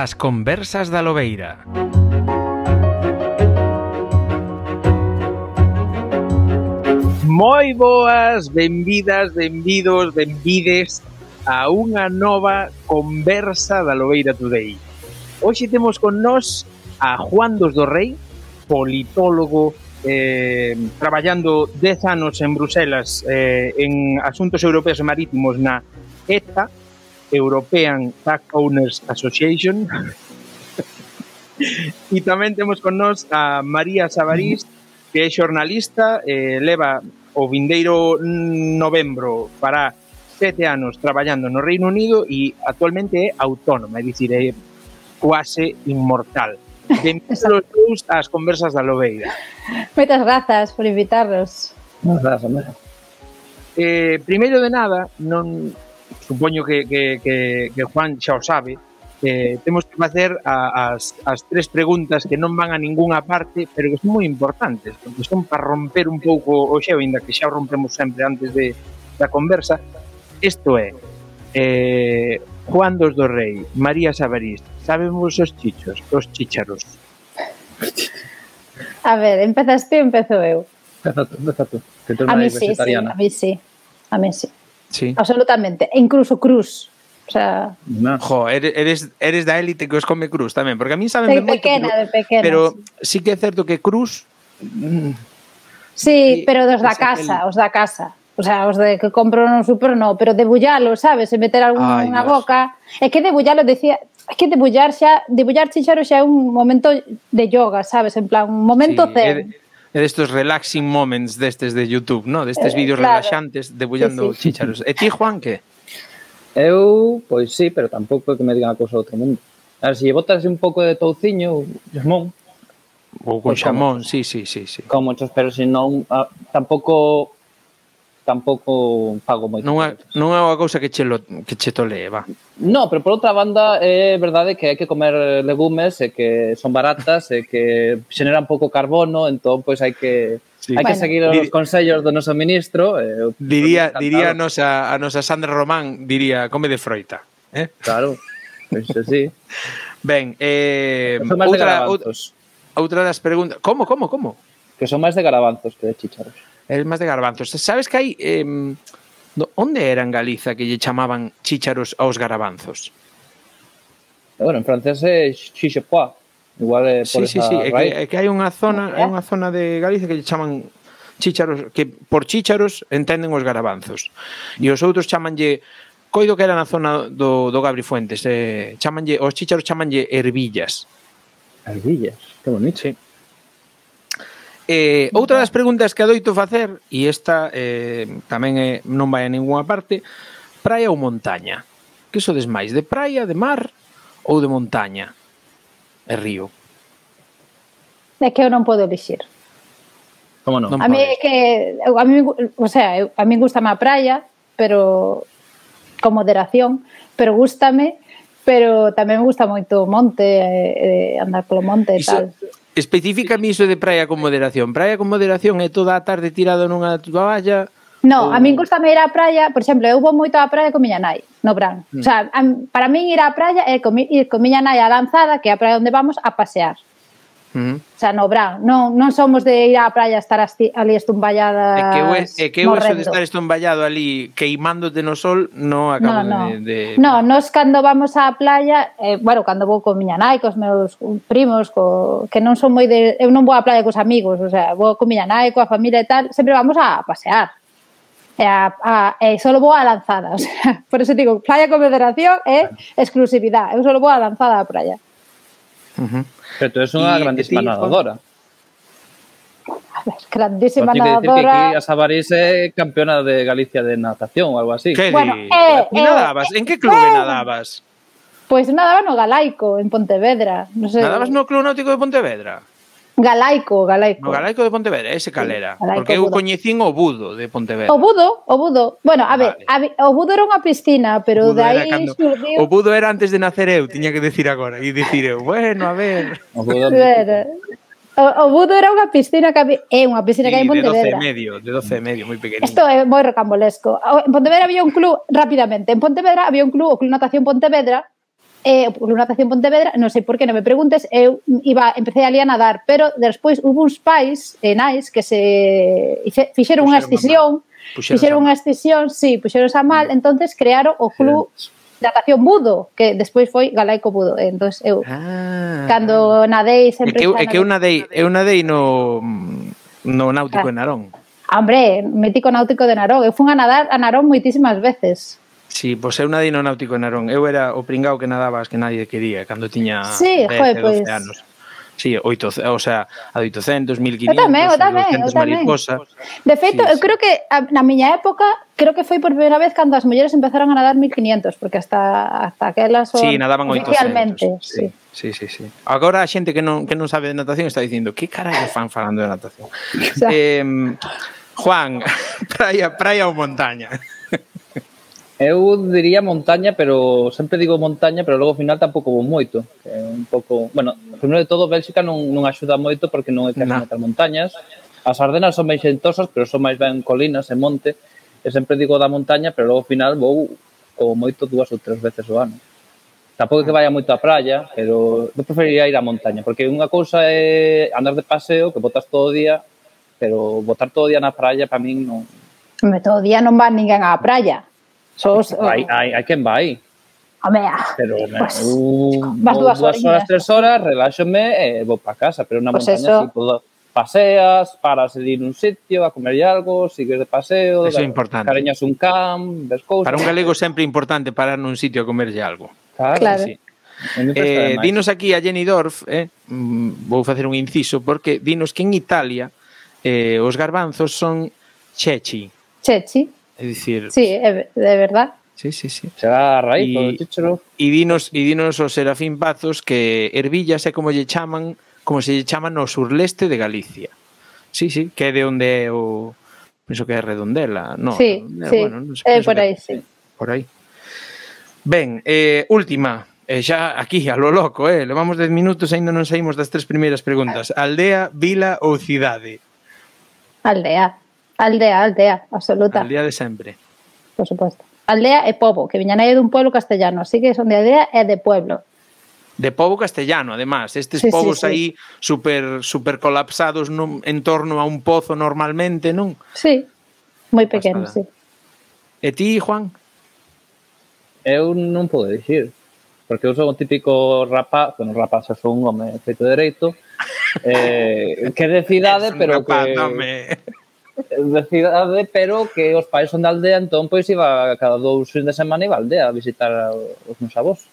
As conversas da Lobeira. Moi boas, benvidas, benvidos, benvides a unha nova conversa da Lobeira Today. Hoxe temos con nós a Juan dos do Rei, politólogo, traballando 10 anos en Bruselas en asuntos europeos e marítimos na ETA, European Tug Owners Association. E tamén temos con nós a María Sabarís, que é xornalista, leva o vindeiro novembro para 7 anos traballando no Reino Unido e actualmente é autónoma, é dicir, é quase inmortal. Benvidos os dous ás conversas da Lobeira. Moitas grazas por invitarnos. Moitas grazas, primeiro de nada, non supoño que Juan xa o sabe, temos que facer as tres preguntas que non van a ningunha parte, pero que son moi importantes, porque son para romper un pouco o xeo, ainda que xa o rompemos sempre antes da conversa. Isto é, Juan dos do Rei, María Sabarís, sabemos os chícharos? A ver, empezas ti, empezo eu. Empeza tú, que tú A non mí eres sí, vegetariana. a mí sí. Sí. Absolutamente, e incluso cruz. O sea, No. Jo, eres da élite que os come cruz tamén, porque a mí saben de moito, pequena, pero sí. sí que é certo que cruz... Sí, pero dos da ese casa, os da casa. O sea, os de que compro no super no, pero debullalo, sabes, e meter algún na boca. É que debullalo, decía, é que debullar chícharo xa é un momento de yoga, sabes, en plan, un momento zen. É destes relaxing moments destes de YouTube, ¿no? Destes vídeos claro. relaxantes debullando Sí. chícharos. E ti, Juan, que? Eu, pois sí, pero tampouco é que me digan a cousa do outro mundo. A ver, se botas un pouco de touciño, xamón, Ou con Pois xamón, sí. como muchos, pero se non, tampouco fago moito. Non é unha cousa que che tolee, va. No, pero por outra banda é verdade que hai que comer legumes e que son baratas e que xeneran pouco carbono, entón pois hai que seguir os consellos do noso ministro. Diría a nosa Sandra Román, diría, come de froita. Claro, pois sí. Ben, Son máis de garabanzos. outra das preguntas... Como? Que son máis de garabanzos que de chícharos. É máis de garbanzos. Sabes que hai... onde era en Galiza que lle chamaban chícharos aos garabanzos? Bueno, en francés é chichepois. Igual é por esa raíz. É que hai unha zona de Galicia que lle chaman chícharos, que por chícharos entenden os garabanzos. E os outros chamanlle, coido que era na zona do Gabri Fuentes, os chícharos chamanlle ervillas. Ervillas, que bonito. Sí. Outra das preguntas que adoito facer, e esta tamén non vai a ninguna parte, praia ou montaña? Que sodes máis, de praia, de mar ou de montaña e río? É que eu non podo elixir. Como non? A mí é que a mí gustame a praia, pero con moderación, pero gústame, pero tamén me gusta moito o monte, andar polo monte e tal. Especifícame iso de praia con moderación. Praia con moderación é toda a tarde tirado nunha toalla? No, a min gustame ir á praia, por exemplo, eu vou moito á praia con miña nai, no verán. O sea, para min ir á praia é ir con miña nai á Lanzada, que é a praia onde vamos, a pasear. O sea, no verán. Non somos de ir á praia a estar ali estumballadas. É que eu eso de estar estumballado ali queimándote no sol non acabo de... No, nos cando vamos á playa, bueno, cando vou con miña nai, cos meus primos, que non son moi de... Eu non vou á playa cos amigos, o sea, vou con miña nai, coa familia e tal, sempre vamos a pasear. E só vou á Lanzada, o sea, por eso digo, playa con moderación é exclusividade. Eu só vou á Lanzada á praia. Pero tú eres unha grandísima nadadora. A ver, grandísima nadadora. Tiene que decir que aquí a Sabarís é campeona de Galicia de natación ou algo así. Que bueno, nadabas? En que clube nadabas? Pois nadaba no Galaico, en Pontevedra. No sé. Nadabas no Club Náutico de Pontevedra? Galaico. No Galaico de Pontevedra, ese calera. Sí, porque eu coñecín o Budo de Pontevedra. O Budo. Bueno, a ver, o Budo era unha piscina, pero de aí xurdiu... O Budo era antes de nacer eu, tiña que decir agora. E dicir eu, bueno, a ver... O Budo... O Budo era unha piscina que había, é unha piscina que hai en Pontevedra. De 12 e medio, moi pequenino. Isto é moi rocambolesco. En Pontevedra había un club, rapidamente, en Pontevedra había un club, o Club Natación Pontevedra, Club Natación Pontevedra, non sei por que, non me preguntes, eu empecé ali a nadar, pero despois hubo uns pais e nais que se fixeron unha escisión, sí, puxeronse a mal, entonces crearon o Club Natación Budo, que despois foi Galaico Budo. Entonces eu, cando nadei sempre... É que eu nadei no Náutico de Narón. Hombre, mítico Náutico de Narón. Eu fui a nadar a Narón moitísimas veces. Sí, pois eu nadei no Náutico de Narón. Eu era o pringao que nadaba as que nadie quería cando tiña 10, 12 anos. Sí, a 800, 1500, 200 mariposa. De feito, eu creo que na miña época, creo que foi por primeira vez cando as mulleres empezaron a nadar 1500, porque hasta aquelas son... Sí, nadaban 800. Sí. Agora a xente que non sabe de natación está dicindo que carallo fan falando de natación. Juan, praia ou montaña? Eu diría montaña, pero sempre digo montaña, pero logo ao final tampouco vou moito. É un pouco, bueno, primeiro de todo, Bélxica non axuda moito porque non é que meter montañas. As Ardenas son máis xentosas, pero son máis ben colinas e monte. E sempre digo da montaña, pero logo ao final vou como moito 2 ou 3 veces ao ano. Tampouco que vaya moito á praia, pero eu preferiría ir á montaña, porque unha cousa é andar de paseo, que botas todo o día, pero botar todo o día na praia, para min non... Todo o día non va ninguén á praia. Hai quen vai. Pero vas 2 horas, 3 horas, reláxome e vou para casa, pero na montaña si paseas, paras de ir un sitio a comer algo, sigues de paseo, cariñas un camp, ves cousas. Para un galego sempre é importante parar nun sitio a comerlle algo. Claro. Dinos aquí a Jenny Dorf, vou facer un inciso, porque dinos que en Italia os garbanzos son ceci. Ceci? É dicir... Sí, de verdad. Sí. Será a raíz, o chícharo. E dinos o Serafín Pazos que ervillas é como se lle chaman no surleste de Galicia. Sí, que é de onde é o... Penso que é Redondela. Sí, por aí, sí. Por aí. Ben, última. Xa aquí, a lo loco, levamos 10 minutos e ainda non saímos das 3 primeiras preguntas. Aldea, vila ou cidade? Aldea, absoluta. Aldea de sempre. Por supuesto. Aldea e pobo, que miña nai é dun pueblo castellano, así que son de aldea e de pueblo. De pobo castellano, además. Estes povos aí super colapsados en torno a un pozo normalmente, non? Sí, moi pequeno, sí. E ti, Juan? Eu non podo dicir, porque eu son o típico rapaz, xa son un home feito dereito, que de cidade, pero que... de cidade, pero que os pais son de aldea, entón pois iba cada 2 fins de semana iba a aldea a visitar os meus avós.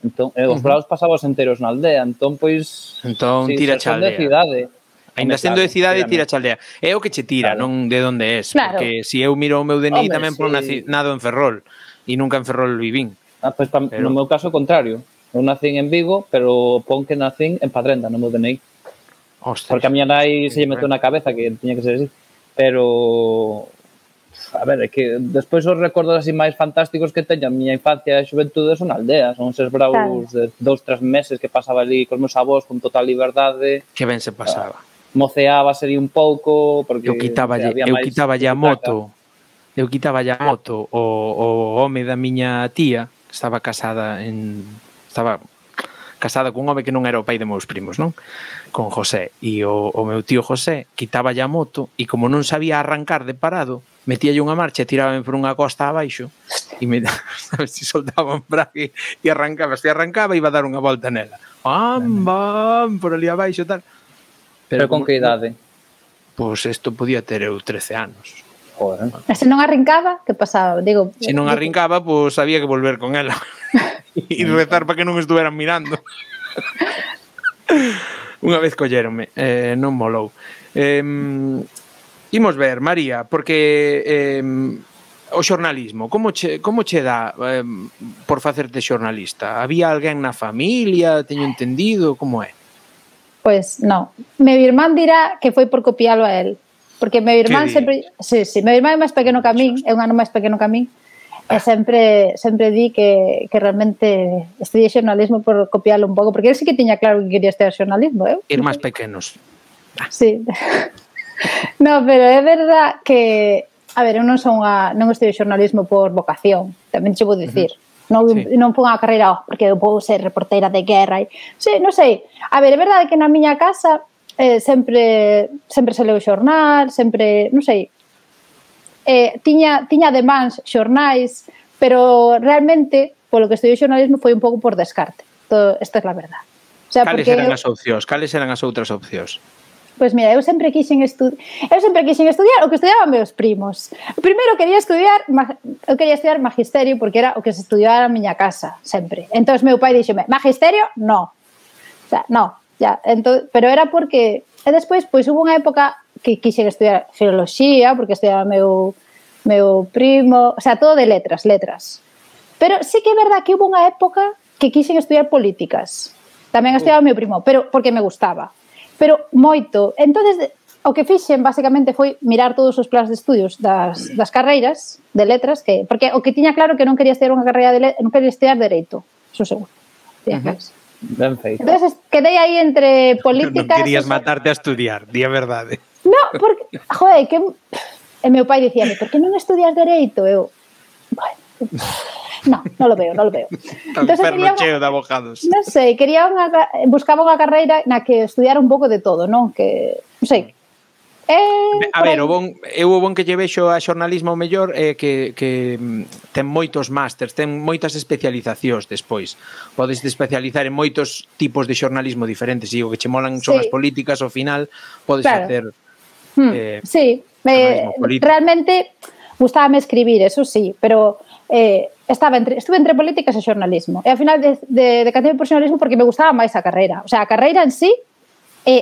Entón, os veraos pasabos enteros na aldea, entón pois... Entón tira xa aldea. Ainda sendo de cidade, tira xa aldea. É o que che tira, non de onde és. Porque se eu miro o meu DNI tamén pon nado en Ferrol, e nunca en Ferrol vivín. Pois no meu caso, o contrario. Eu nacín en Vigo, pero pon que nacín en Padrenda, no meu DNI. Porque a miña nai se lle meteu na cabeza que tiña que ser así. Pero, a ver, é que despois os recordos así máis fantásticos que teño a miña infancia e xuventude son aldeas, son eses braus de 2-3 meses que pasaba ali cos meus avós con total liberdade. Que ben se pasaba. Moceaba sería un pouco, porque... Eu quitaba a moto, o home da miña tía, que estaba casada con un home que non era o pai de meus primos, non? Con José. E o meu tío José quitaba a moto e como non sabía arrancar de parado, metíalle unha marcha e tirábame por unha costa abaixo e sabes, se soltaba un brague e arrancaba. Se arrancaba iba a dar unha volta nela. Bam, por ali abaixo e tal. Pero con que idade? Pois isto podía ter eu 13 anos. Joder. E se non arrancaba, que pasaba? Se non arrancaba, pois había que volver con ela. E rezar para que non estuveran mirando. Unha vez colléronme, non molou. Imos ver, María, porque o xornalismo, como che dá por facerte xornalista? Había alguén na familia, teño entendido, como é? Pois non. Meu irmán dirá que foi por copialo a él. Porque meu irmán sempre... Sí, meu irmán é máis pequeno que a min, é un ano máis pequeno que a min, e sempre di que realmente estudiei xornalismo por copiarlo un pouco, porque él sí que tiña claro que quería estudiar xornalismo, eu. Ir máis pequenos. Sí. No, pero é verdad que, a ver, eu non estudio xornalismo por vocación, tamén che vou dicir. Non fui unha carreira porque eu vou ser reportera de guerra. Sí, non sei. A ver, é verdade que na miña casa sempre se leu xornal, sempre, non sei, tiña de mans xornais, pero realmente, polo que estudiei xornalismo, foi un pouco por descarte. Esta é a verdade. O sea, cales eran as opcións? Cales eran as outras opcións? Pois mira, eu sempre quixen estudiar o que estudiaban meus primos. Primeiro eu quería estudiar magisterio porque era o que se estudiaba na miña casa, sempre. Entón meu pai dixeme, magisterio, no. O sea, no, ya. Entón, pero era porque... E despois, pois, hubo unha época que quixen estudiar filoloxía, porque estudiaba meu primo... O sea, todo de letras. Pero sí que é verdad que hubo unha época que quixen estudiar políticas. Tamén estudiaba meu primo, pero porque me gustaba. Pero moito. Entonces, o que fixen basicamente foi mirar todos os planes de estudios das carreiras de letras, porque o que tiña claro que non quería estudiar unha carreira non quería estudiar dereito, eso seguro. Ben feito. Entonces, quedei aí entre políticas... Non querías matarte a estudiar, di a verdade. No, porque, joder, que... E meu pai dicíame, por que non estudias dereito? Eu, bueno... Non lo veo. Entonces, perno cheo de abogados. Non sei, buscaba unha carreira na que estudiara un pouco de todo, non? Que, non sei. A ver, o bon que lle vexo a xornalismo mellor é que ten moitos másters, ten moitas especializacións despois. Podes especializar en moitos tipos de xornalismo diferentes, e o que che molan son as políticas, ao final podes facer sí, realmente gustábame escribir, eso sí, pero estuve entre políticas e xornalismo. E ao final decanteime por xornalismo porque me gustaba máis a carreira. O sea, a carreira en sí,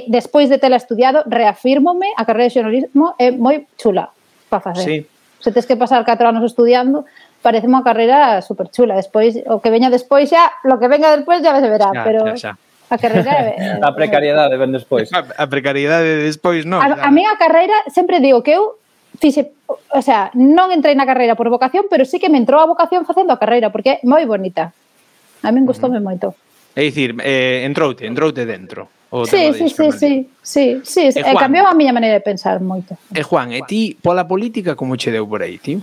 despois de tela estudiado, reafírmome, a carreira de xornalismo é moi chula para facer. Sí. Se tes que pasar 4 anos estudiando, parece unha carreira super chula. Despois, o que veña despois xa, lo que venga despois ya se verá, pero a carreira... A precariedade ven despois. A precariedade despois, non. A miña carreira, sempre digo que eu fixe, o sea, non entrei na carreira por vocación, pero sí que me entrou a vocación facendo a carreira, porque é moi bonita. A min gustoume moito. É dicir, entroute dentro. Sí. Cambiou a miña maneira de pensar moito. E Juan, e ti, pola política, como che deu por aí, ti?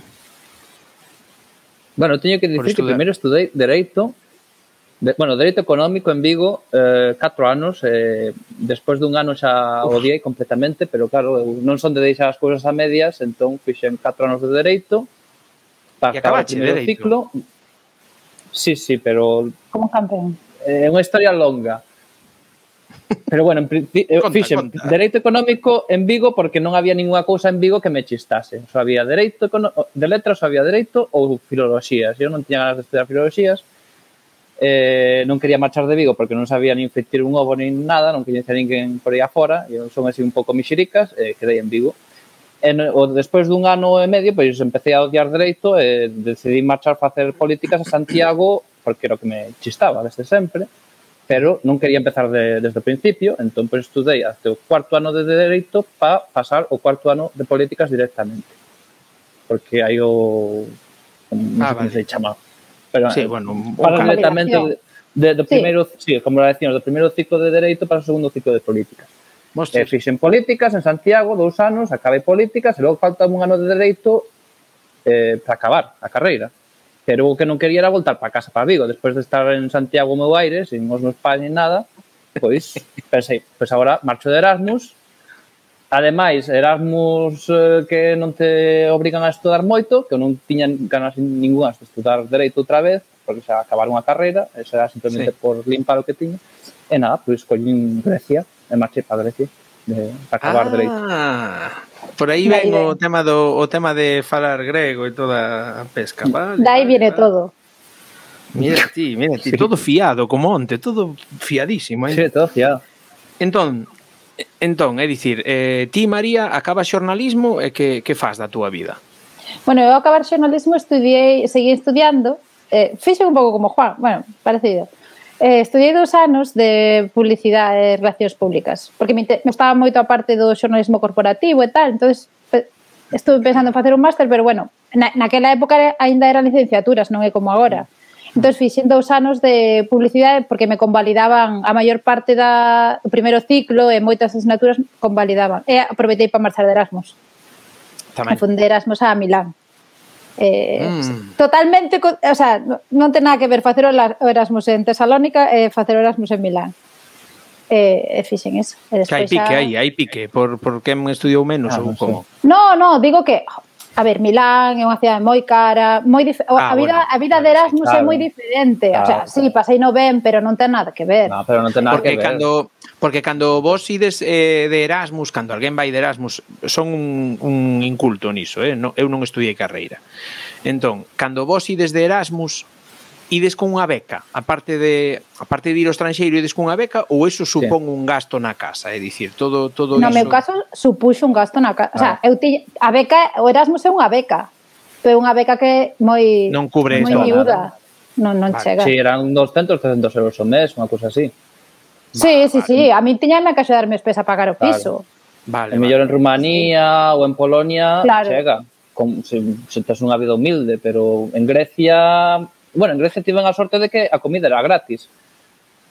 Bueno, teño que dicir que primeiro estudei Dereito, Dereito Económico en Vigo, 4 anos, despois dun ano xa odiei completamente, pero claro, non son de deixar as cousas a medias, entón fixen 4 anos de Dereito, para acabar o primeiro ciclo. Sí, pero... Como campeón. É unha historia longa. Pero bueno, fixen Dereito Económico en Vigo porque non había ninguna cousa en Vigo que me chistase. Só había Dereito de letras, só había Dereito ou Filoloxías. Eu non tiña ganas de estudiar Filoloxías. Non quería marchar de Vigo porque non sabía nin fritir un ovo nin nada, non coñecía ninguén por aí afora, e son así un pouco mixiricas, quedei en Vigo. Despois dun ano e medio, pois empecé a odiar Dereito e decidí marchar a facer políticas a Santiago porque era o que me chistaba desde sempre, pero non quería empezar desde o principio, entón pois estudei até o 4º ano de Dereito para pasar o 4º ano de políticas directamente. Porque hai o... non sei como se chama. Pero, sí, bueno, para directamente do primeiro, sí, como decíamos, do primeiro ciclo de Dereito para o segundo ciclo de políticas. Fixen políticas en Santiago 2 anos, acabei políticas e logo faltaba un ano de Dereito para acabar a carreira. Pero o que non quería era voltar para casa, para Vigo. Despois de estar en Santiago o meu aire, sin os meus pais nin nada, pois pensei, pois agora marcho de Erasmus. Ademais, Erasmus que non te obrigan a estudar moito, que eu non tiña ganas ningunas de estudar Dereito outra vez, porque xa acabar unha carreira, eso era simplemente por limpar o que tiña. E nada, pois collín Grecia, e marchei para Grecia, para acabar Dereito. Por aí ven o tema de falar grego e toda a pesca, vale? Dai viene todo. Mira ti, todo fiado, como onte, todo fiadísimo. Sí, todo fiado. Entón, é dicir, ti, María, acabas xornalismo e que faz da túa vida? Bueno, eu acabar xornalismo seguí estudiando, fixen un pouco como Juan, bueno, parecido. Estudiei 2 anos de publicidade e relacións públicas, porque me estaba moito a parte do xornalismo corporativo e tal, entonces estuve pensando en facer un máster, pero bueno, naquela época ainda eran licenciaturas, non é como agora. Entón, fixen 2 anos de publicidade porque me convalidaban a maior parte do primeiro ciclo e moitas asignaturas convalidaban. E aproveitei para marchar de Erasmus. Tamén. Me fundei Erasmus a Milán. Totalmente, o sea, non ten nada que ver facer o Erasmus en Tesalónica e facer o Erasmus en Milán. Fixen eso. Que hai pique, por quen estudiou menos ou como? No, digo que, a ver, Milán é unha cidade moi cara, a vida de Erasmus é moi diferente. O sea, sí, pasei no ben, pero non ten nada que ver. No, pero non ten nada que ver. Porque cando vos ides de Erasmus, cando alguén vai de Erasmus, son un inculto niso, eu non estudiei carreira. Entón, cando vos ides de Erasmus, ides con unha beca, aparte de ir ao estranxeiro, ides con unha beca, ou iso supón un gasto na casa, é dicir, todo iso... No meu caso, supuxo un gasto na casa. O sea, a beca, o Erasmus é unha beca, pero é unha beca que moi... Non cubre moi miúda. Non chega. Si, eran 200, 300 euros ao mes, unha cousa así. Sí, a mí tiñame que axudarme a pagar o piso. Vale. Mellor en Rumanía ou en Polonia chega. Se tes unha vida humilde, pero en Grecia... Bueno, en Grecia tiven a sorte de que a comida era gratis.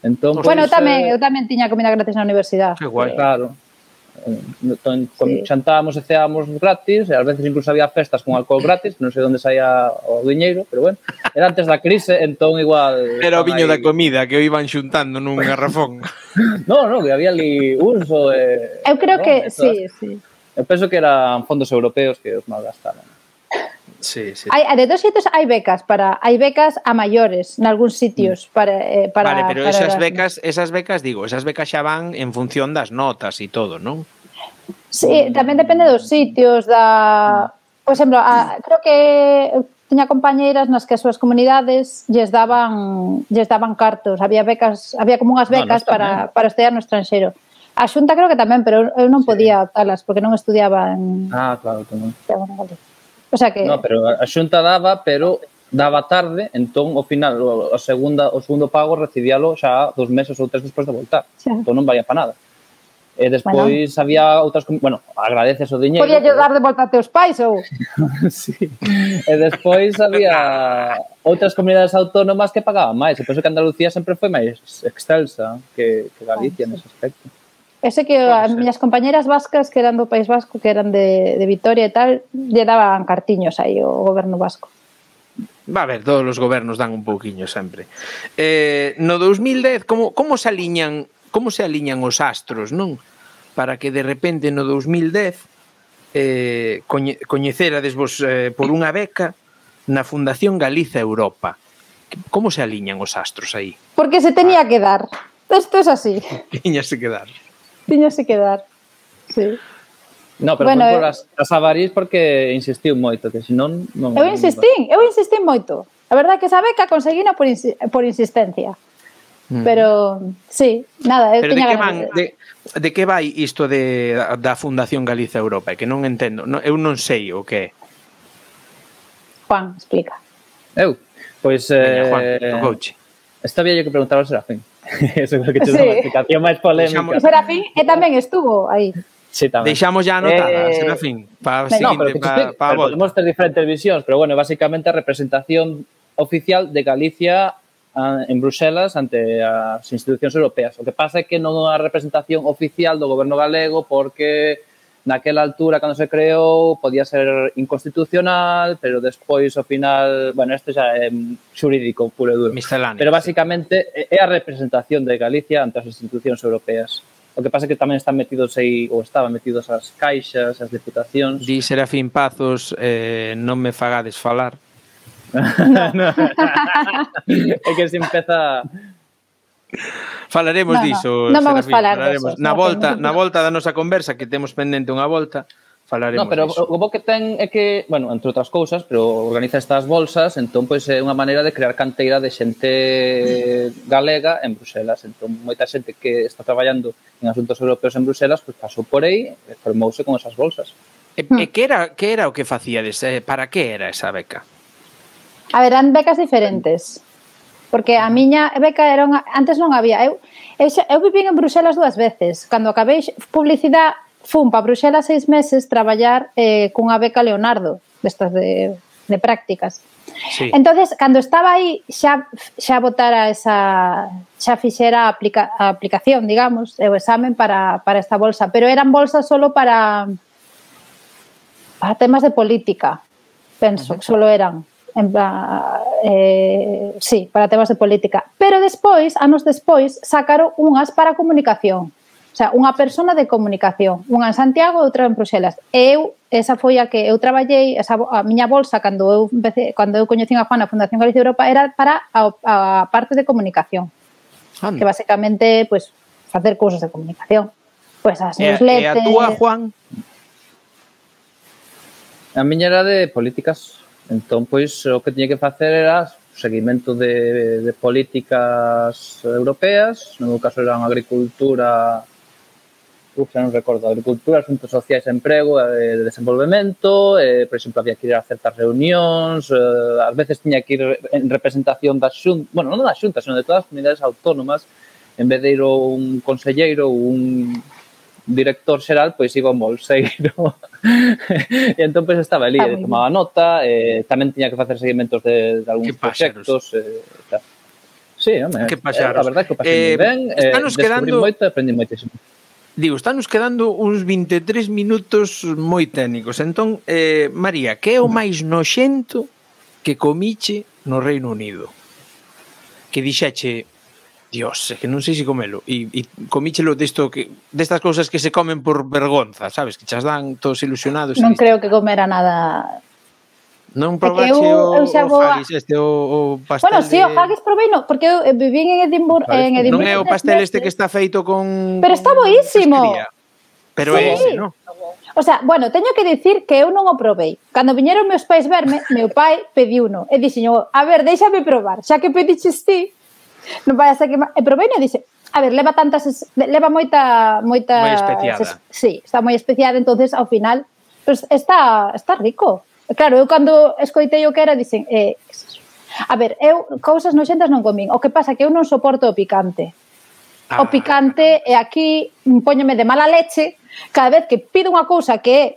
Entón, bueno, eu tamén tiña comida gratis na universidade. Que guai. Claro. Xantábamos e ceábamos gratis, e ás veces incluso había festas con alcohol gratis, non sei onde saía o diñeiro, pero bueno, era antes da crise, entón igual... Era o viño da comida que o iban xuntando nun garrafón. No, que había ali uso... Eu creo que, sí. Eu penso que eran fondos europeos que os malgastaron. Sí. De todos xeitos hai becas a maiores nalgúns sitios para vale, pero esas becas xa van en función das notas e todo, non? Sí, tamén depende dos sitios por exemplo, creo que tiña compañeiras nas que as súas comunidades lles daban cartos, había como unhas becas para estudiar no estranxeiro. A Xunta creo que tamén, pero eu non podía optalas porque non estudiaba en... claro, tamén. O sea que... No, pero a Xunta daba, pero daba tarde, entón, ao final, o segundo pago recibíalo xa 2 meses ou 3 despois de voltar. Entón non valía para nada. E despois había outras... Bueno, agradeces o diñeiro. Podía dar de volta a teus pais ou... Sí. E despois había outras comunidades autónomas que pagaban máis. E penso que Andalucía sempre foi máis excelsa que Galicia nese aspecto. Ese que as miñas compañeras vascas que eran do País Vasco, que eran de Vitoria e tal, lle daban cartiños aí o goberno vasco. Va a ver, todos os gobernos dan un pouquiño sempre. No 2010, como se aliñan os astros, non? Para que de repente no 2010 coñecerades vos por unha beca na Fundación Galiza Europa. Como se aliñan os astros aí? Porque se tenía que dar. Isto é así. Tiñase que dar. Tiñase que dar, sí. No, pero bueno, por as avarís porque insistiu moito, que senón... Eu insistín moito. A verdade é que esa beca conseguina por insistencia. Pero, sí, nada, eu tiña ganas. De que vai isto da Fundación Galiza Europa? É que non entendo, eu non sei o que é. Juan, explica. Eu? Pois... Juan, tocouche. Esta había que preguntar ao Serafín. Eso é que te dá unha explicación máis polémica. O Serafín tamén estuvo aí. Sí, tamén. Deixamos ya anotada, Serafín, para podemos ter diferentes visións, pero bueno, basicamente a representación oficial de Galicia en Bruselas ante as institucións europeas. O que pasa é que non é a representación oficial do goberno galego porque naquela altura, cando se creou, podía ser inconstitucional, pero despois, ao final, bueno, isto xa é xurídico, puro e duro. Misceláneo. Pero, basicamente, é a representación de Galicia ante as institucións europeas. O que pasa é que tamén están metidos aí, ou estaban metidos as caixas, as diputacións. Di Serafín Pazos, non me fagades falar. É que se empeza... Falaremos diso, non vamos falar diso. Na volta da nosa conversa, que temos pendente unha volta, falaremos pero diso. O bo que ten é que, bueno, entre outras cousas, pero organiza estas bolsas, entón, pois, é unha maneira de crear canteira de xente galega en Bruselas. Entón, moita xente que está traballando en asuntos europeos en Bruselas, pois pasou por aí e formouse con esas bolsas. E que era o que facíades? Para que era esa beca? A ver, eran becas diferentes. Porque a miña beca era antes non había. Eu viví en Bruselas 2 veces. Cando acabei publicidade, fun para Bruselas 6 meses traballar cunha beca Leonardo, destas de prácticas. Sí. Entonces, cando estaba aí, xa botara xa fixera a aplicación, digamos, o examen para esta bolsa. Pero eran bolsas solo para temas de política. penso que solo eran en plan, sí, para temas de política. Pero despois, anos despois, sacaron unhas para comunicación. O sea, unha persona de comunicación, unha en Santiago e outra en Bruxelas. E eu, esa foi a que eu traballei, a miña bolsa, cando eu coñecín a Juan na Fundación Galicia Europa, era para a parte de comunicación. Que basicamente, pues, facer cousas de comunicación. Pues as newsletters... E a túa, Juan? A miña era de políticas. Entón, pois, o que tiña que facer era seguimento de políticas europeas. No meu caso eran agricultura... xa non recordo, agricultura, asuntos sociais, emprego, de desenvolvemento, por exemplo, había que ir a certas reunións, ás veces tiña que ir en representación das xuntas, bueno, non das xuntas, sino de todas as comunidades autónomas, en vez de ir un conselleiro ou un director xeral, pois iba un bolseiro. E entón, pois, estaba ali, tomaba nota, tamén tiña que facer seguimentos de algúns proxectos. Sí, home, a verdade que o pasei moi ben, descubrí moito e aprendi moitísimo. Digo, estános quedando uns 23 minutos moi técnicos. Entón, María, que é o máis noxento que comiche no Reino Unido? Que dixeche, Dios, que non sei se comelo. E comíchelo destas cousas que se comen por vergonza, sabes? Que chas dan todos ilusionados. Non creo que comera nada... Non probache o haggis o pastel? Bueno, sí, o haggis probei, no, porque eu viví en Edimburgo. Non é o pastel este que está feito con... Pero está boísimo. Pero é ese, non? O sea, bueno, teño que dicir que eu non o probei. Cando viñeron meus pais verme, meu pai pediuno. E dixeño, a ver, déixame probar. Xa que pediches ti, non vai a ser que... E probei e dixe, a ver, leva moita... Moi especiada. Sí, está moi especiada, entonces ao final, pues, está rico. Claro, eu cando escoitei o que era, dixen, a ver, eu cousas noxentas non comín. O que pasa é que eu non soporto o picante. O picante, e aquí póñome de mala leche cada vez que pido unha cousa que é,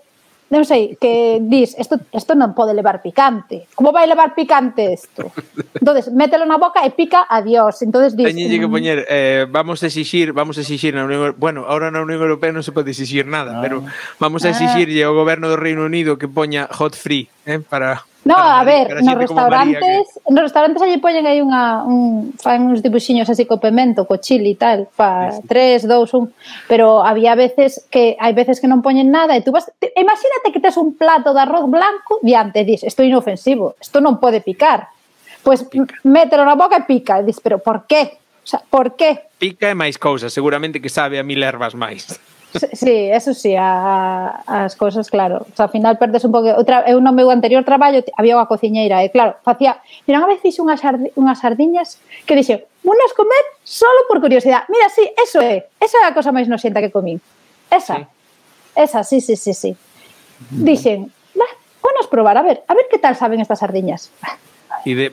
non sei, que dis, isto non pode levar picante. Como vai levar picante isto? Entonces, mételo na boca e pica, adiós. Entonces dis... Teñenlle que poñer, vamos a exixir na Unión Europea, bueno, ahora na Unión Europea non se pode exixir nada, pero vamos a exixirlle ao goberno do Reino Unido que poña hot free, para... No, a ver, nos restaurantes allí poñen aí fan uns dibuxiños así co pemento, co chili e tal, pa 3, 2, 1, pero había veces que hai veces que non poñen nada e tú vas, imagínate que tes un plato de arroz blanco diante, dis, isto é inofensivo, isto non pode picar. Pois mételo na boca e pica, e dis, pero por qué? O sea, por qué? Pica e máis cousas, seguramente que sabe a 1000 ervas máis. Sí, eso sí, as cousas, claro. O sea, ao final perdes un pouco... Eu no meu anterior traballo había unha cociñeira e, claro, facía... Mira, unha vez fixe unhas sardiñas que dixe, unas comer solo por curiosidade. Mira, sí, esa é a cosa máis noxenta que comín. Esa, sí. Dixen, vamos probar, a ver que tal saben estas sardiñas. E de...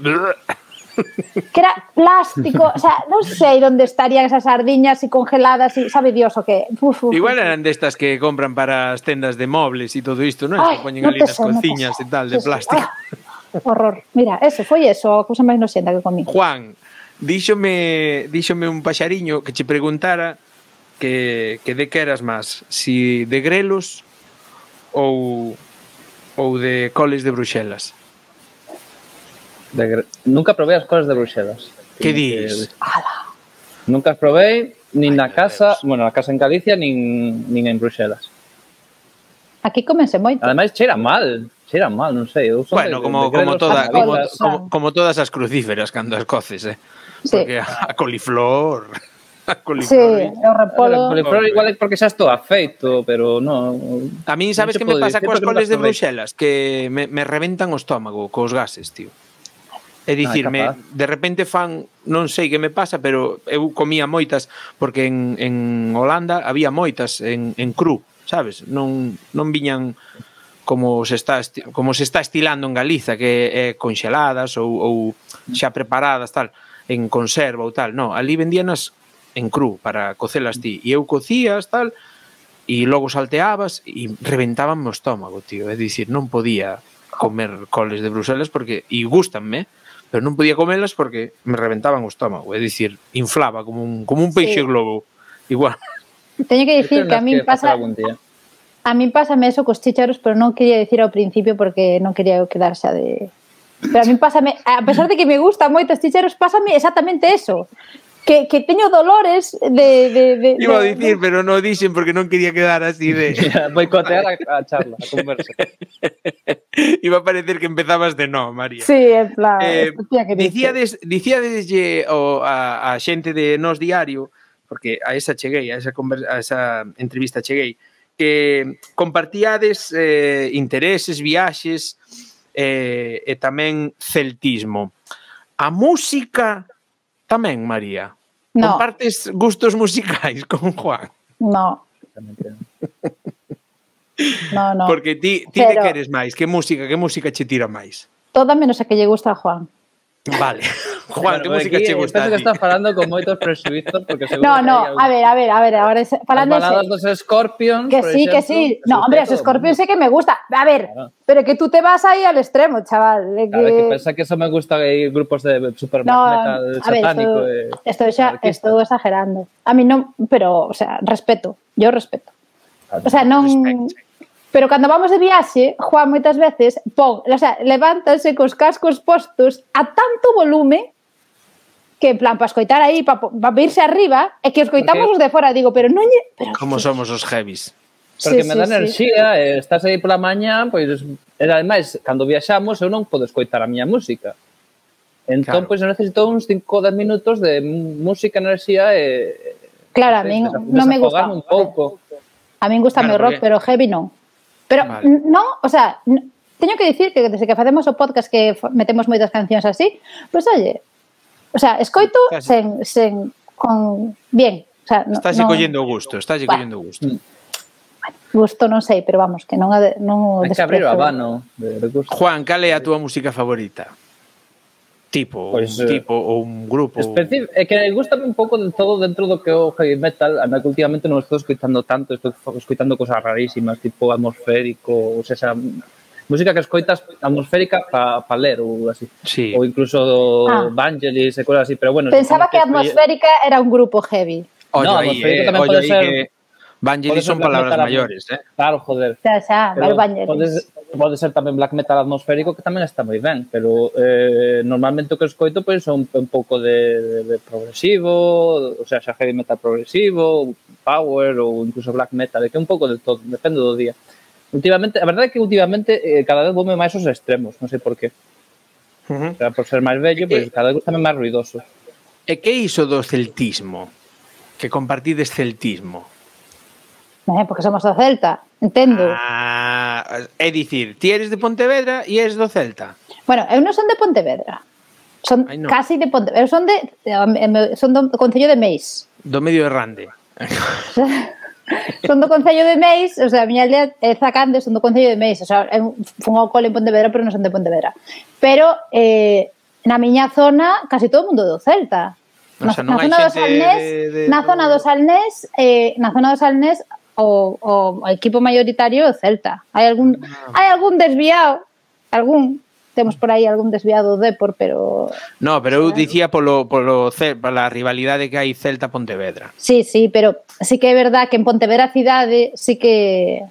Que era plástico, o sea, non sei onde estarían esas sardiñas e congeladas e sabe Dios o que. Igual eran destas que compran para as tendas de mobles e todo isto, non? Que poñen ali nas cociñas e tal, de plástico. Horror. Mira, foi a cousa máis noxenta que comí. Juan, díxome un paxariño que che preguntara que de que eras máis, si de grelos ou de coles de Bruxelas. Nunca probei as coles de Bruxelas. Que dis? Nunca as probei, nin na casa, bueno, na casa en Galicia, nin en Bruxelas. Aquí comense moito. Ademais, cheira mal, non sei. Bueno, como todas as crucíferas cando as coces, porque a coliflor... Sí, o repolo... O coliflor igual é porque xa estou afeito, pero non... A min, sabes que me pasa coas coles de Bruxelas? Que me reventan o estómago cos gases, tío. É dicir, de repente fan, non sei que me pasa, pero eu comía moitas, porque en Holanda había moitas en cru, sabes? Non viñan como se está estilando en Galiza, que é conxeladas ou xa preparadas, tal, en conserva ou tal. Non, ali vendíanas en cru para cocelas ti. E eu cocías, tal, e logo salteabas e reventaban o estómago, tío. É dicir, non podía comer coles de Bruxelas porque, e gústanme, pero non podía comelas porque me reventaban o estómago, é dicir, inflaba como un peixe globo, igual. Teño que dicir que a min pasa... A mí pásame eso cos chícharos, pero non quería dicir ao principio porque non quería eu quedar xa de... Pero a mí pásame, a pesar de que me gustan moito os chícharos, pásame exactamente eso. Que teño dolores de Iba a dicir, pero non dixen porque non quería quedar así de... Boicotear a charla, a conversa. Iba a parecer que empezabas de no, María. Sí, en plan... Dicíadeslle a xente de Nós Diario, porque a esa cheguei, a esa entrevista cheguei, que compartíades intereses, viaxes e tamén celtismo. A música... Tamén, María. No. Compartes gustos musicais con Juan? No. No. Porque ti de que eres máis? Que música che tira máis? Toda menos a que lle gusta a Juan. Vale. Juan, que música che gusta a ti? Penso que estás falando con moitos presuizos porque seguro a ver, ahora falando as baladas dos Scorpions, que sí. No, hombre, os Scorpions sí que me gusta. A ver, claro. Pero que tú te vas ahí al extremo, chaval. Claro, que pensa que eso me gusta hay grupos de super metal satánico. Estou exagerando. A mí non, pero, o sea, respeto. Yo respeto. O sea, non... Pero cando vamos de viaxe, Juan moitas veces levántase cos cascos postos a tanto volume que en plan para escoitar aí, para irse arriba, e que escoitamos os de fora, digo, pero non lle... Como somos os heavies. Porque me dá enerxía, estás aí pola mañá, pois, ademais, cando viaxamos, eu non podo escoitar a miña música. Entón, pois, eu necesito uns 5-10 minutos de música, enerxía e... Claro, a min non me gusta. Un pouco. A min gusta o rock, pero heavy non. Pero non, o sea, teño que dicir que desde que facemos o podcast que metemos moitas cancións así, pois oye, o sea, escoito sen con bien, o sea, estás collendo gusto. Gusto non sei, pero vamos, que non o desprezo. Hai que abrir o abano de gusto. Juan, cal é a túa música favorita? Tipo ou un grupo? É que gustame un pouco de todo dentro do que é o heavy metal, a que últimamente non estou escoitando tanto, estou escoitando cosas rarísimas, tipo atmosférico, ou sea, música que escoitas atmosférica para ler ou así. Sí. Ou incluso Vangelis e cosas así, pero bueno... Pensaba que atmosférica era un grupo heavy. No, atmosférica tamén pode ser... Vangelis son palabras maiores, Claro, joder. Pode ser tamén black metal atmosférico, que tamén está moi ben, pero normalmente o que escoito pois son un pouco de progresivo, o sea, xa heavy metal progresivo, power ou incluso black metal, que é un pouco de todo, depende do día. Últimamente, a verdade é que últimamente cada vez voume máis os extremos, non sei por qué. O sea, por ser máis vello, pois cada vez gustame máis ruidoso. E que iso do celtismo? Que compartides celtismo? Porque somos do Celta, entendo. É dicir, ti eres de Pontevedra e eres do Celta. Bueno, eu non son de Pontevedra. Son casi de Pontevedra. Eu son do Concello de Meis. Do medio de Rande. Son do Concello de Meis, o sea, a miña aldea é Zacande, son do Concello de Meis. O sea, fun ao cole en Pontevedra, pero non son de Pontevedra. Pero na miña zona, casi todo o mundo do Celta. Na zona do Salnés, o equipo mayoritario é o Celta. Hai algún desviado, temos por aí algún desviado do Depor, pero... No, pero eu dicía pola rivalidade que hai Celta-Pontevedra. Sí, pero sí que é verdad que en Pontevedra cidade sí que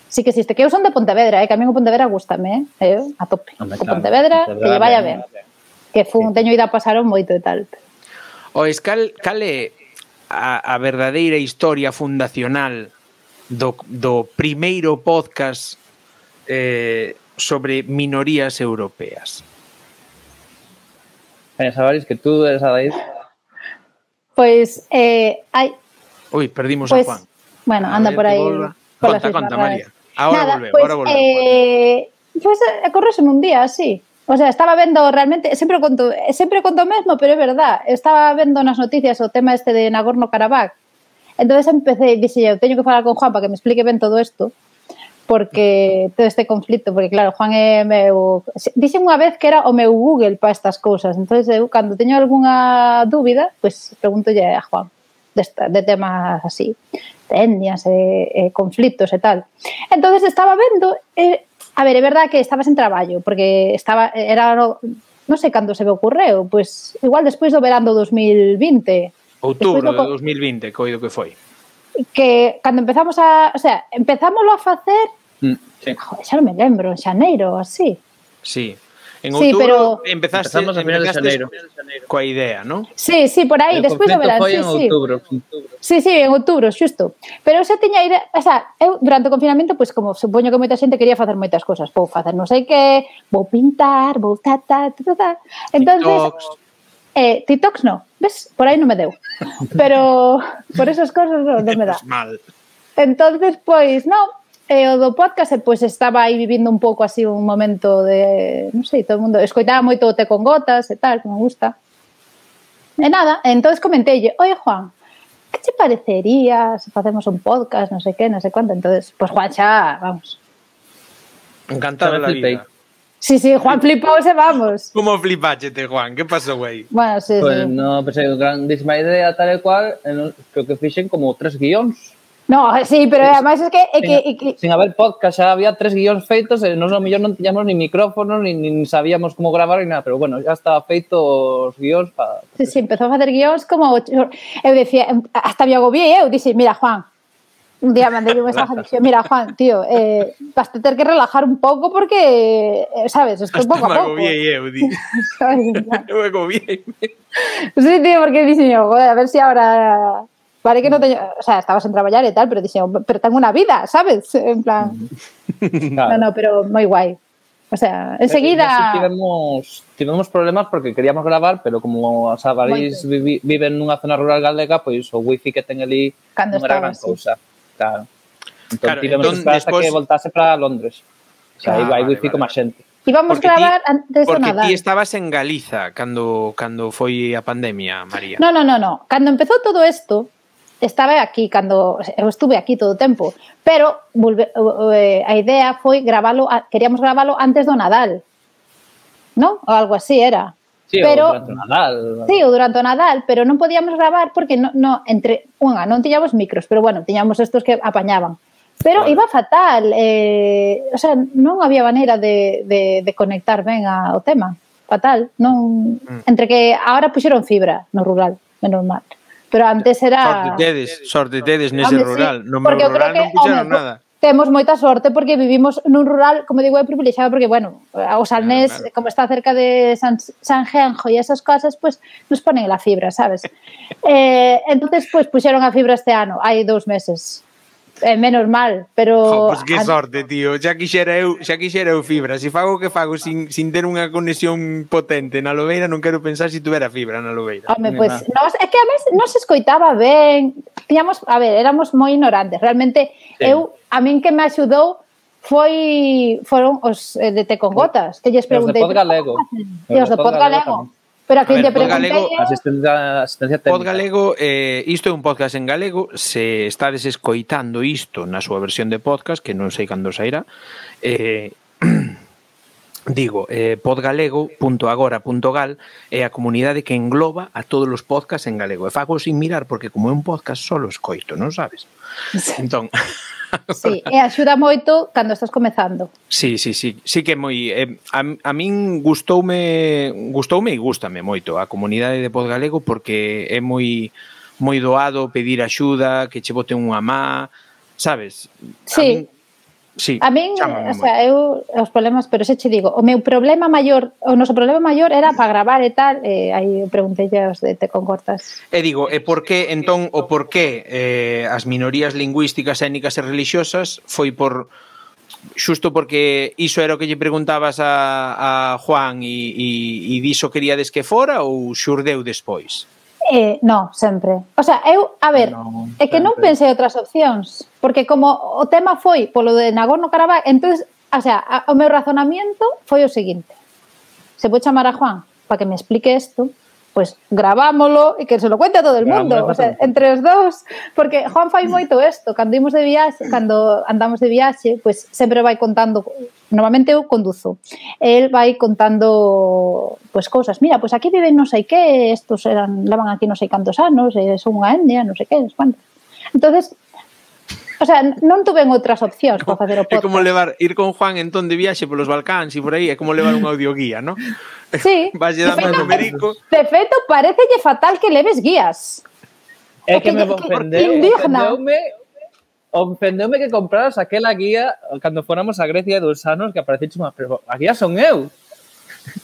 existe. Que eu son de Pontevedra, que a mí o Pontevedra gústame, a tope. O Pontevedra, que lle vaya ben. Que teño ido a pasar moito e tal. Ois, cal é a verdadeira historia fundacional do primeiro podcast sobre minorías europeas? Sabáis que tú eres a David. Pois hai... Ui, perdimos a Juan. Bueno, anda por aí. Conta, María. Ahora volveu. Pois correseme un día así. O sea, estaba vendo realmente, sempre conto o mesmo, pero é verdad, estaba vendo nas noticias o tema este de Nagorno-Karabaj. Entonces empecé, dixe eu, teño que falar con Juan para que me explique ben todo isto, porque todo este conflito, porque claro, Juan é meu... Dixe unha vez que era o meu Google para estas cousas, entonces eu, cando teño algunha dúbida, pues pregúntolle a Juan de temas así, de etnias e conflitos e tal. Entonces estaba vendo... A ver, é verdad que estaba sen traballo, porque era non sei cando se me ocorreu, pois igual despois do verán do 2020. Outubro de 2020, coido que foi. que cando empezamos a... O sea, empezámoslo a facer... Sí. Joder, xa non me lembro, en xaneiro, así. Sí. En Sí, outubro pero- empezamos Empezamos a finales de xaneiro. coa idea, ¿no? Sí, por aí, O despois do confinamento verán, foi sí, en sí. outubro. Sí, en outubro, xusto. Pero eu xa tiña idea, o sea, eu durante o confinamento, pois como supoño que moita xente quería facer moitas cosas, vou facer non sei que, vou pintar, vou ta. Entonces, TikToks no, ves? Por aí non me deu. Pero por esas cosas non me dá. Mal. Entonces, pois, non, o do podcast, pois estaba aí vivindo un pouco así un momento de, non sei, todo o mundo, escoitaba moito o Té con Gotas e tal, que me gusta. E nada, entonces comenteille, oye Juan, que che parecería se facemos un podcast, non sei que, non sei cuánto, entonces, pois Juan xa, vamos. Encantado de la vida. Sí, Juan flipouse, vamos. Como flipáchete, Juan? Que pasou aí? Bueno, sí. Pues no, pensei, grandísima idea, tal e cual, creo que fixen como 3 guións. No, sí, pero además es que... Sin haber podcast, xa había 3 guións feitos, e nos ao mellor non tiñamos ni micrófono, ni sabíamos como gravar, ni nada, pero bueno, ya estaba feito os guións para... Sí, empezou a facer guións como... Eu decía, hasta me agobiei, eu dixi, mira, Juan, un día mandei un mensaje e dixi, mira, Juan, tío, vas a ter que relajar un pouco porque, sabes, esto Hasta pouco a pouco. me agobiei eu, di. Eu me agobiei. Sí, tío, porque dixi, joder, a ver si ahora... Vale que non teño... O sea, estabas en traballar e tal, pero dixen, pero tengo unha vida, sabes? En plan... Claro. No, pero moi guai. O sea, enseguida... Tivemos problemas porque queríamos gravar, pero como os avarís viven nunha zona rural galega, pois o wifi que ten ali Cando non era gran estaba, cousa. Claro. Entón, Claro, tivemos que esperar hasta que voltase para Londres. O sea, hai wifi como a xente. Íbamos gravar antes do Nadal. Porque ti estabas en Galiza cando foi a pandemia, María. No. Cando empezou todo isto, estaba aquí, cando eu estuve aquí todo o tempo, pero a idea foi queríamos gravalo antes do Nadal, non? Ou algo así era. Sí, pero, durante o Nadal. Sí, ou durante o Nadal, pero non podíamos gravar porque non tiñamos micros, pero bueno, tiñamos estos que apañaban. Pero iba fatal, o sea, non había maneira de conectar ben ao tema, fatal. Non, entre que agora puxeron fibra no rural, menos mal. Pero antes era... Sorte tedes nese rural. No meu porque rural non puxeron nada. Temos moita sorte porque vivimos nun rural, como digo, privilexiado porque, bueno, o Salnés, claro. Como está cerca de San Genjo e esas cosas, pues nos ponen la fibra, sabes? Entonces, pues puxeron a fibra este ano, hai 2 meses. Menos mal, pero... Pois que sorte, tío. Xa quixera eu fibra. Se fago o que fago sin ter unha conexión potente na Lobeira, non quero pensar se tuvera fibra na Lobeira. Home, pois, é que a vez non se escoitaba ben. Tiñamos, a ver, éramos moi ignorantes. Realmente, sí. A min que me axudou foron os de Té con Gotas, que lles preguntei... Os de Pod Galego. Os de Pod Galego. Pero a quen lle preguntei... Asistencia técnica. Pod Galego, isto é un podcast en galego. Se estades escoitando isto na súa versión de podcast, que non sei cando sairá, digo, podgalego.agora.gal é a comunidade que engloba a todos os podcasts en galego. E fago sin mirar, porque como é un podcast solo escoito, non sabes? Entón... Sí, e axuda moito cando estás comezando. Sí que é moi... a min gustoume e gústame moito a comunidade de Pod Galego porque é moi doado pedir axuda, que che boten unha má, sabes? A min, o sea, eu os problemas, pero se che digo, o noso problema maior era para gravar e tal, aí preguntei aos de Té con Gotas. E digo, por que as minorías lingüísticas, étnicas e religiosas foi xusto porque iso era o que lle preguntabas a Juan e diso queríades que fora ou xurdeu despois? No, sempre. O sea, a ver, é que non pensei outras opcións, porque como o tema foi polo de Nagorno-Karabaj, entonces, o sea, o meu razonamiento foi o seguinte: se vou chamar a Juan para que me explique isto, pues gravámolo e que se lo cuente a todo el mundo, o sea, entre os dous, porque Juan fai moito isto, cando andamos de viaxe, pues sempre vai contando, normalmente eu conduzo, el vai contando pues cousas, mira, pues aquí viven non sei que, estos levan aquí non sei cantos anos, son unha etnia, non sei que, entonces, o sea, non tuven outras opcións para facer o podcast. É como ir con Juan entón de viaxe polos Balcáns e por aí, é como levar un audioguía, non? Sí. Vas lle dando numerico. De feito, parecelle fatal que leves guías. É que me ofendeume que compraras aquela guía cando fóramos a Grecia de 2 anos que apareciste unha, pero a guía son eu.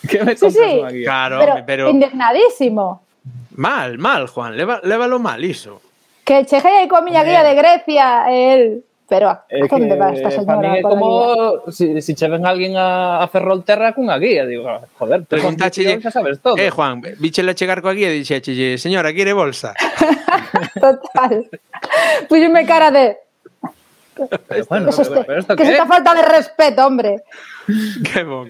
Que me compras unha guía? Claro, pero indignadísimo. Mal, Juan, lévalo mal iso. Que cheguei aí coa miña guía de Grecia, el... Pero a onde va esta señora? Para mí é como si che ven alguén a Ferrolterra cunha guía, digo, joder, preguntáchelle, xa sabes todo. Juan, víchela chegar coa guía e dixéchelle, señora, quere bolsa? Total. Puxeme cara de... Bueno, pero esto que es esta falta de respeto, hombre. Que bon.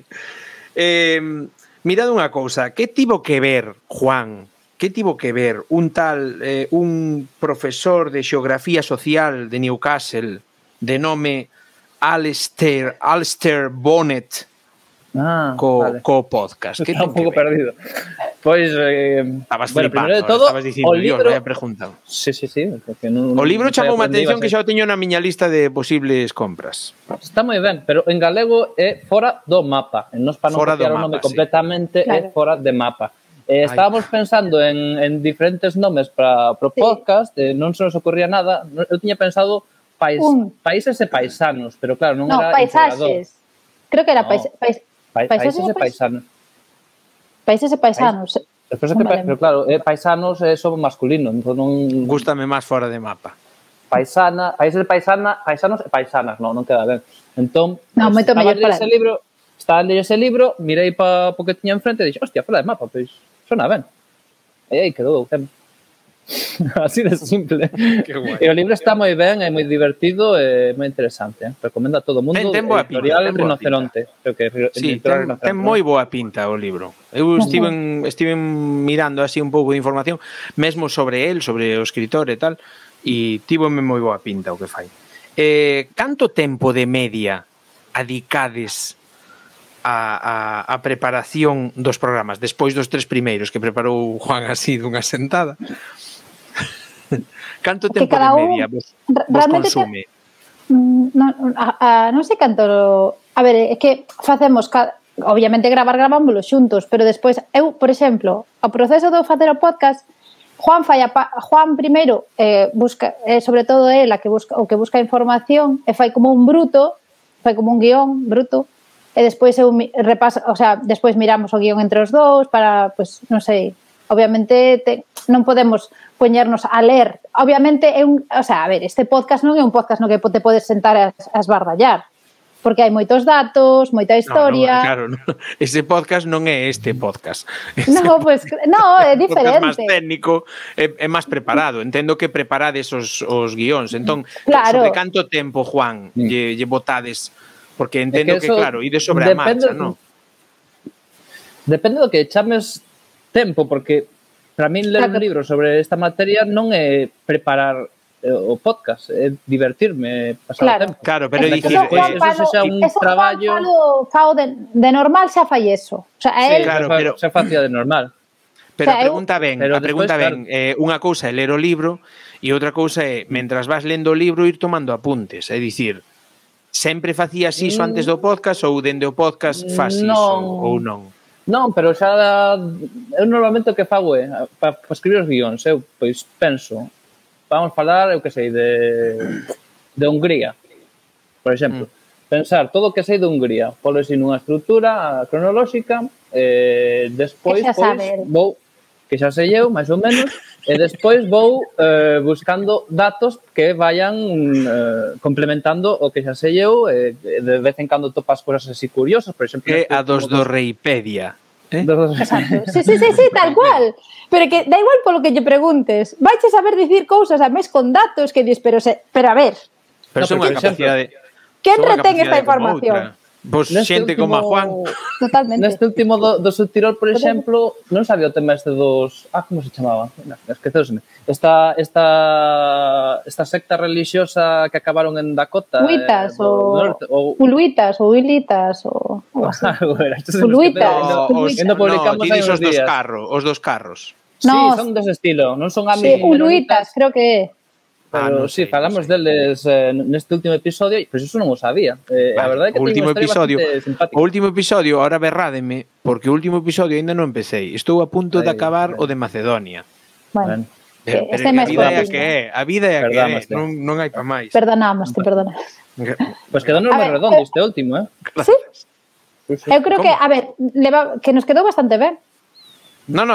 Mirad unha cousa, que tivo que ver, Juan, que tivo que ver un tal, un profesor de xeografía social de Newcastle de nome Alistair Bonnet co podcast? Está un pouco perdido. Pois, estabas flipando, primeiro de todo, estabas dicindo, Dios, vaya pregunta. Sí. O libro chamou a atención que xa o teño na miña lista de posibles compras. Está moi ben, pero en galego é fora do mapa. Nos para non copiar o nome completamente é fora de mapa. Estábamos pensando en diferentes nomes para o podcast, non se nos ocurría nada. Eu tiña pensado países e paisanos, pero claro, non era paisaxes. Creo que era países e paisanos. Países e paisanos. Pero claro, paisanos é só masculino, entón non... Gústame máis fora de mapa. Paisana, países de paisanos e paisanas, non queda ben. Entón, moito mellor para estaba lendo ese libro, mirei para o que tiña enfrente e dixo, hostia, fora de mapa, pois sona ben. E aí quedou ben. Así de simple. E o libro está moi ben, é moi divertido e moi interesante. Recomendo a todo o mundo. Editorial Rinoceronte. Sí, ten moi boa pinta o libro. Eu estive mirando así un pouco de información, mesmo sobre el, sobre o escritor e tal, e tivome moi boa pinta o que fai. Canto tempo de media adicades a preparación dos programas, despois dos 3 primeiros que preparou Juan así dunha sentada? Canto tempo de media vos consume? Non sei canto... A ver, é que facemos... Obviamente gravámoslo xuntos, pero despois, eu, por exemplo, o proceso de facer o podcast, Juan primeiro busca, sobre todo el o que busca información, e fai como un bruto, fai como un guión bruto, e despois eu repaso, o sea, despois miramos o guión entre os dous para, pues, non sei, obviamente non podemos poñernos a ler. Obviamente o sea, a ver, este podcast non é un podcast no que te podes sentar a esbardallar, porque hai moitos datos, moita historia. Claro, ese podcast non é este podcast. No, pues, no, é diferente. É máis técnico, é máis preparado. Entendo que preparades os guións. Entón, sobre canto tempo, Juan, lle botades? Porque entendo que, claro, ide sobre a marcha, non? Depende do que chames tempo, porque para min ler un libro sobre esta materia non é preparar o podcast, é divertirme, pasar o tempo. Claro, pero dicir... Eso xa un traballo... Fao de normal xa fai eso. O sea, sí, claro, pero xa facía de normal. Pero a pregunta ben, unha cousa é ler o libro e outra cousa é, mentras vas lendo o libro, ir tomando apuntes. É dicir, sempre facías iso antes do podcast ou dende o podcast faz iso ou non? Non, pero xa eu normalmente o que fago é para escribir os guións, eu pois penso, vamos falar, eu que sei, de Hungría, por exemplo. Pensar todo o que sei de Hungría, polo así nunha estrutura cronolóxica, despois vou, que xa sei eu, máis ou menos, e despois vou buscando datos que vayan complementando o que xa sei eu, de vez en cando topas cosas así curiosas, por exemplo... É a dos do Reipedia. Exacto. Sí, tal cual. Pero que da igual polo que lle preguntes, vaiche saber dicir cousas a mes con datos que dis, pero a ver... Pero son unha capacidade... Quen retén esta información? Vos xente como a Juan. Totalmente. Neste último do Subtirol, por exemplo, non sabía o tema este dos... como se chamaba? Esqueceuseme. Esta secta religiosa que acabaron en Dakota. Huitas ou Uluitas ou Ilitas ou Uluitas. No, ti dis os dos carros. Sí, son dese estilo. Non son amigos. Sí, Uluitas, creo que é. Pero sí, falamos deles neste último episodio, pois eso non o sabía. A verdade é que o último episodio, ahora berrádeme, porque o último episodio ainda non empecé. Estou a punto de acabar o de Macedonia. Bueno. Este máis a vida é a que é, non hai pa máis. Perdonámoste. Pois quedou moi redondo este último, Sí? Eu creo que, a ver, que nos quedou bastante ben. Non,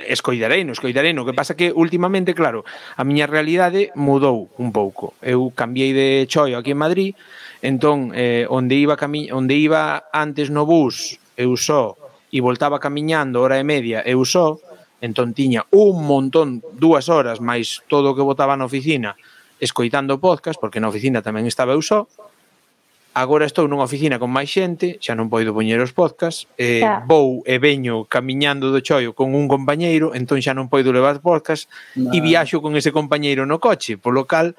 escoidarei. O que pasa que últimamente, claro, a miña realidade mudou un pouco. Eu cambiei de choio aquí en Madrid, entón, onde iba antes no bus, eu só, e voltaba camiñando hora e media, eu só, entón tiña un montón, 2 horas, máis todo o que botaba na oficina, escoitando podcast, porque na oficina tamén estaba eu só. Agora estou nunha oficina con máis xente, xa non poido poñer os podcast, vou e veño camiñando do choio con un compañeiro, entón xa non poido levar podcast e viaxo con ese compañeiro no coche, polo cal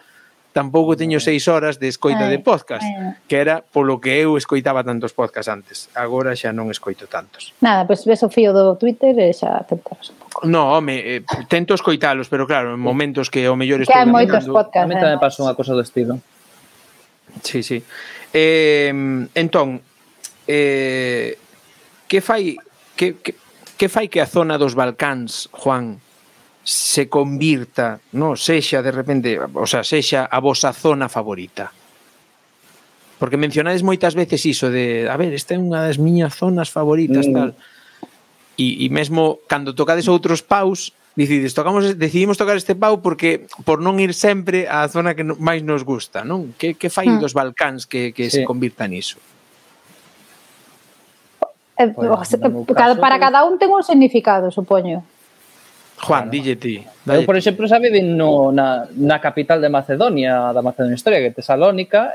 tampouco teño 6 horas de escoita de podcast, que era polo que eu escoitaba tantos podcast antes. Agora xa non escoito tantos. Nada, pois ves o fío do Twitter e xa te enteras un pouco. No, home, tento escoitalos, pero claro, en momentos que o mellor estou caminando... Que hai moitos podcasts. A mí tamén pasou unha cosa do estilo. Sí. Entón, que fai que a zona dos Balcáns, Juan, se convirta, no, sexa de repente, o sea, sexa a vosa zona favorita? Porque mencionades moitas veces iso de, a ver, esta é unha das miñas zonas favoritas, tal. E mesmo cando tocades outros paus, decidimos tocar este pau porque por non ir sempre á zona que máis nos gusta, non? Que fai dos Balcáns que se convirta niso? Para cada un ten un significado, supoño. Juan, dille ti. Eu, por exemplo, xa vivín na capital de Macedonia, da Macedonia Histórica, que é Tesalónica,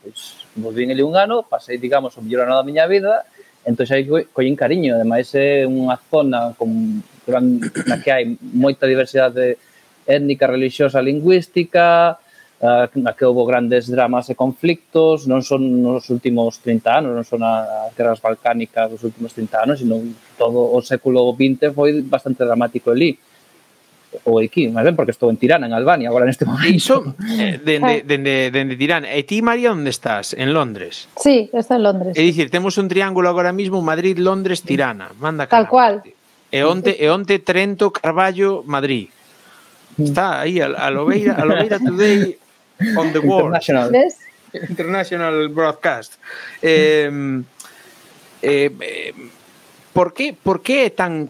pois vin ali un ano, pasei, digamos, o mellor ano da miña vida, entón xa collín cariño, ademais é unha zona na que hai moita diversidade étnica, religiosa, lingüística, na que houve grandes dramas e conflictos, non son nos últimos 30 anos, non son as guerras balcánicas dos últimos 30 anos, sino todo o século XX foi bastante dramático ali. Ou aquí, máis ben, porque estou en Tirana, en Albania, agora neste momento. Iso, dende Tirana. E ti, María, onde estás? En Londres? Sí, estou en Londres. É dicir, temos un triángulo agora mismo, Madrid, Londres, Tirana. Manda tal cual. E onte Trento, Carballo, Madrid. Está aí, a Lobeira Today on the world. International broadcast. Por que é tan...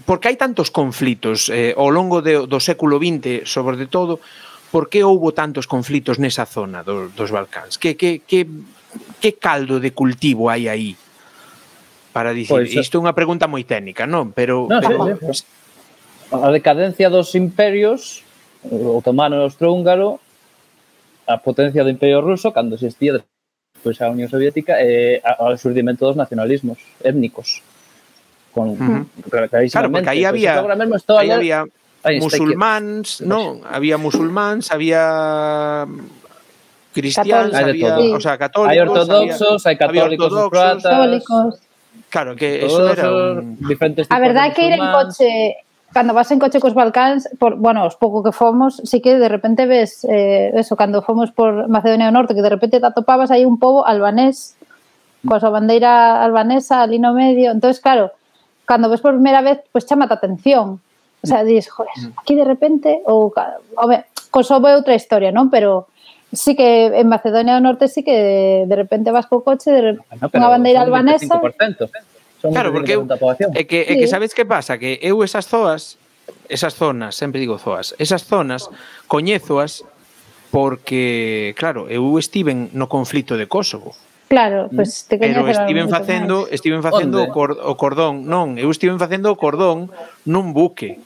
Por que hai tantos conflitos ao longo do século XX, sobre todo, por que houbo tantos conflitos nesa zona dos Balcáns? Que caldo de cultivo hai aí? Para dicir, isto é unha pregunta moi técnica, non? Pero a decadencia dos imperios, o otomano e o austrohúngaro, a potencia do imperio ruso, cando existía despois a Unión Soviética, e ao xurdimento dos nacionalismos étnicos. Claro, porque aí había musulmáns, non? Había musulmáns, había cristiáns, había, o sea, católicos, hai ortodoxos, hai católicos, croatas. Claro, que eso era diferentes tipos. A verdade é que ir en coche, cando vas en coche cos Balcáns, bueno, os pouco que fomos, sí que de repente ves eso, cando fomos por Macedonia do Norte, que de repente te atopabas aí un pobo albanés, coa súa bandeira albanesa ali no medio. Entonces, claro, cando ves por primeira vez, pues chamate a atención. O sea, dices, joder, aquí de repente, ou, Kosovo é outra historia, non? Pero sí que en Macedonia do Norte sí que de repente vas co coche, unha bandeira albanesa. Claro, porque é que sabes que pasa? Que eu esas zonas, sempre digo zoas, esas zonas coñézoas porque, claro, eu estiven no conflito de Kosovo. Claro, pues te pero estiven facendo o cordón, non, eu estiven facendo o cordón nun buque.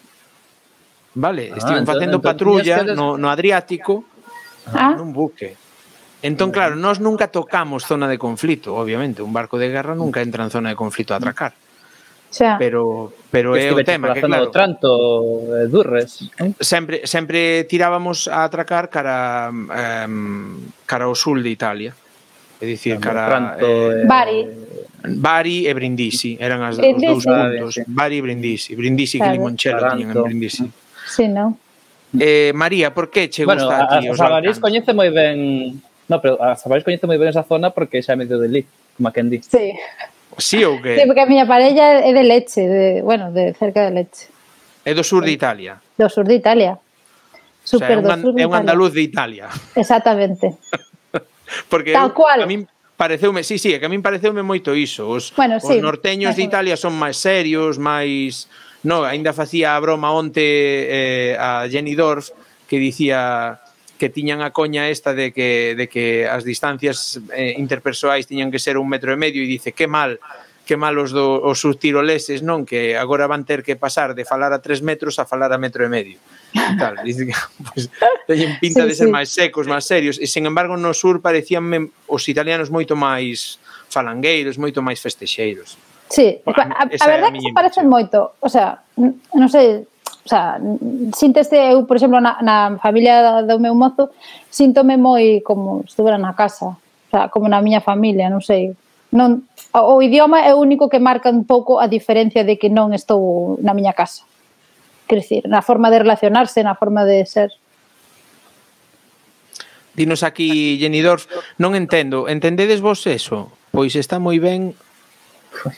Vale, estiven facendo patrulla no Adriático nun buque. Entón, claro, nós nunca tocamos zona de conflito, obviamente, un barco de guerra nunca entra en zona de conflito a atracar. Pero é o tema, que claro, Tranto, Durres. Sempre tirábamos a atracar cara ao sul de Italia. É dicir, cara... Bari e Brindisi, eran os dous puntos. Bari e Brindisi. Brindisi que Limoncello tiñan en Brindisi. Sí, non? María, por que che gusta a ti os Balcáns? A Sabarís coñece moi ben... No, pero a Sabarís coñece moi ben esa zona porque xa medio de Lí, como a quen di. Sí. Sí ou que? Sí, porque a miña parella é de Leche, de cerca de Leche. É do sur de Italia. Do sur de Italia. Super do sur de Italia. É un andaluz de Italia. Exactamente. Porque tal cual. A min pareceume, sí, que a min pareceume moito iso. Os norteños de Italia son máis serios, máis... No, ainda facía a broma onte a Jenny Dorf que dicía que tiñan a coña esta de que as distancias interpersoais tiñan que ser 1,5 metros e dice que mal os subtiroleses, non? Que agora van ter que pasar de falar a 3 metros a falar a 1,5 metros. E tal, dice que pues, teñen pinta de ser máis secos, máis serios, e sen embargo no sur parecíanme os italianos moito máis falangueiros, moito máis festexeiros. Sí, a verdade é que se parecen moito, o sea, non sei, o sea, síntese eu, por exemplo, na familia do meu mozo, síntome moi como estuvera na casa, o sea, como na miña familia, non sei. Non, o idioma é o único que marca un pouco a diferencia de que non estou na miña casa. Quer dicir, na forma de relacionarse, na forma de ser. Dinos aquí, Jenny Dorf, non entendo, entendedes vos eso? Pois está moi ben...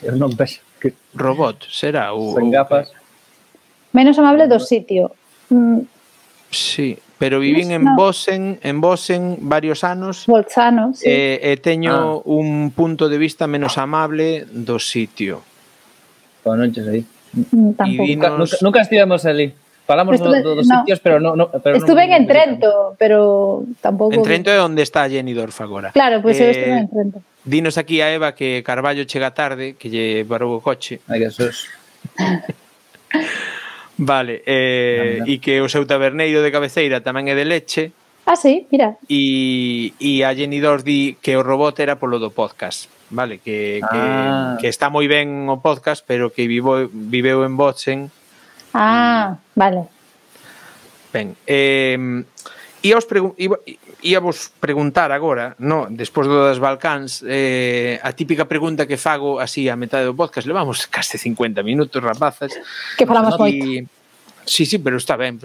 Eu non vexo. Robot, será? Sen gafas. Menos amable do sitio. Sí, pero vivín en Bosen varios anos. Bolzano, sí. E teño un punto de vista menos amable do sitio. Bueno, non sei. Tampouco. Nunca estivemos ali. Falamos dos sitios, pero non... Estuve en Trento, pero tampouco... En Trento é onde está Jenny Dorf agora. Claro, pois eu estuve en Trento. Dinos aquí a Eva que Carballo chega tarde, que lle parou o coche. Ai, que sos. Vale, e que o seu taberneiro de cabeceira tamén é de Leche. Ah, sí, mira. E a Jenny Dorf di que o robot era polo do podcast, vale? Que está moi ben o podcast, pero que viveu en Bozen. Ah, vale. Ben, íavos preguntar agora, no, despois do das Balcáns, a típica pregunta que fago así a metade do podcast, levamos case 50 minutos, rapazas. Que falamos moito. Sí, pero está ben,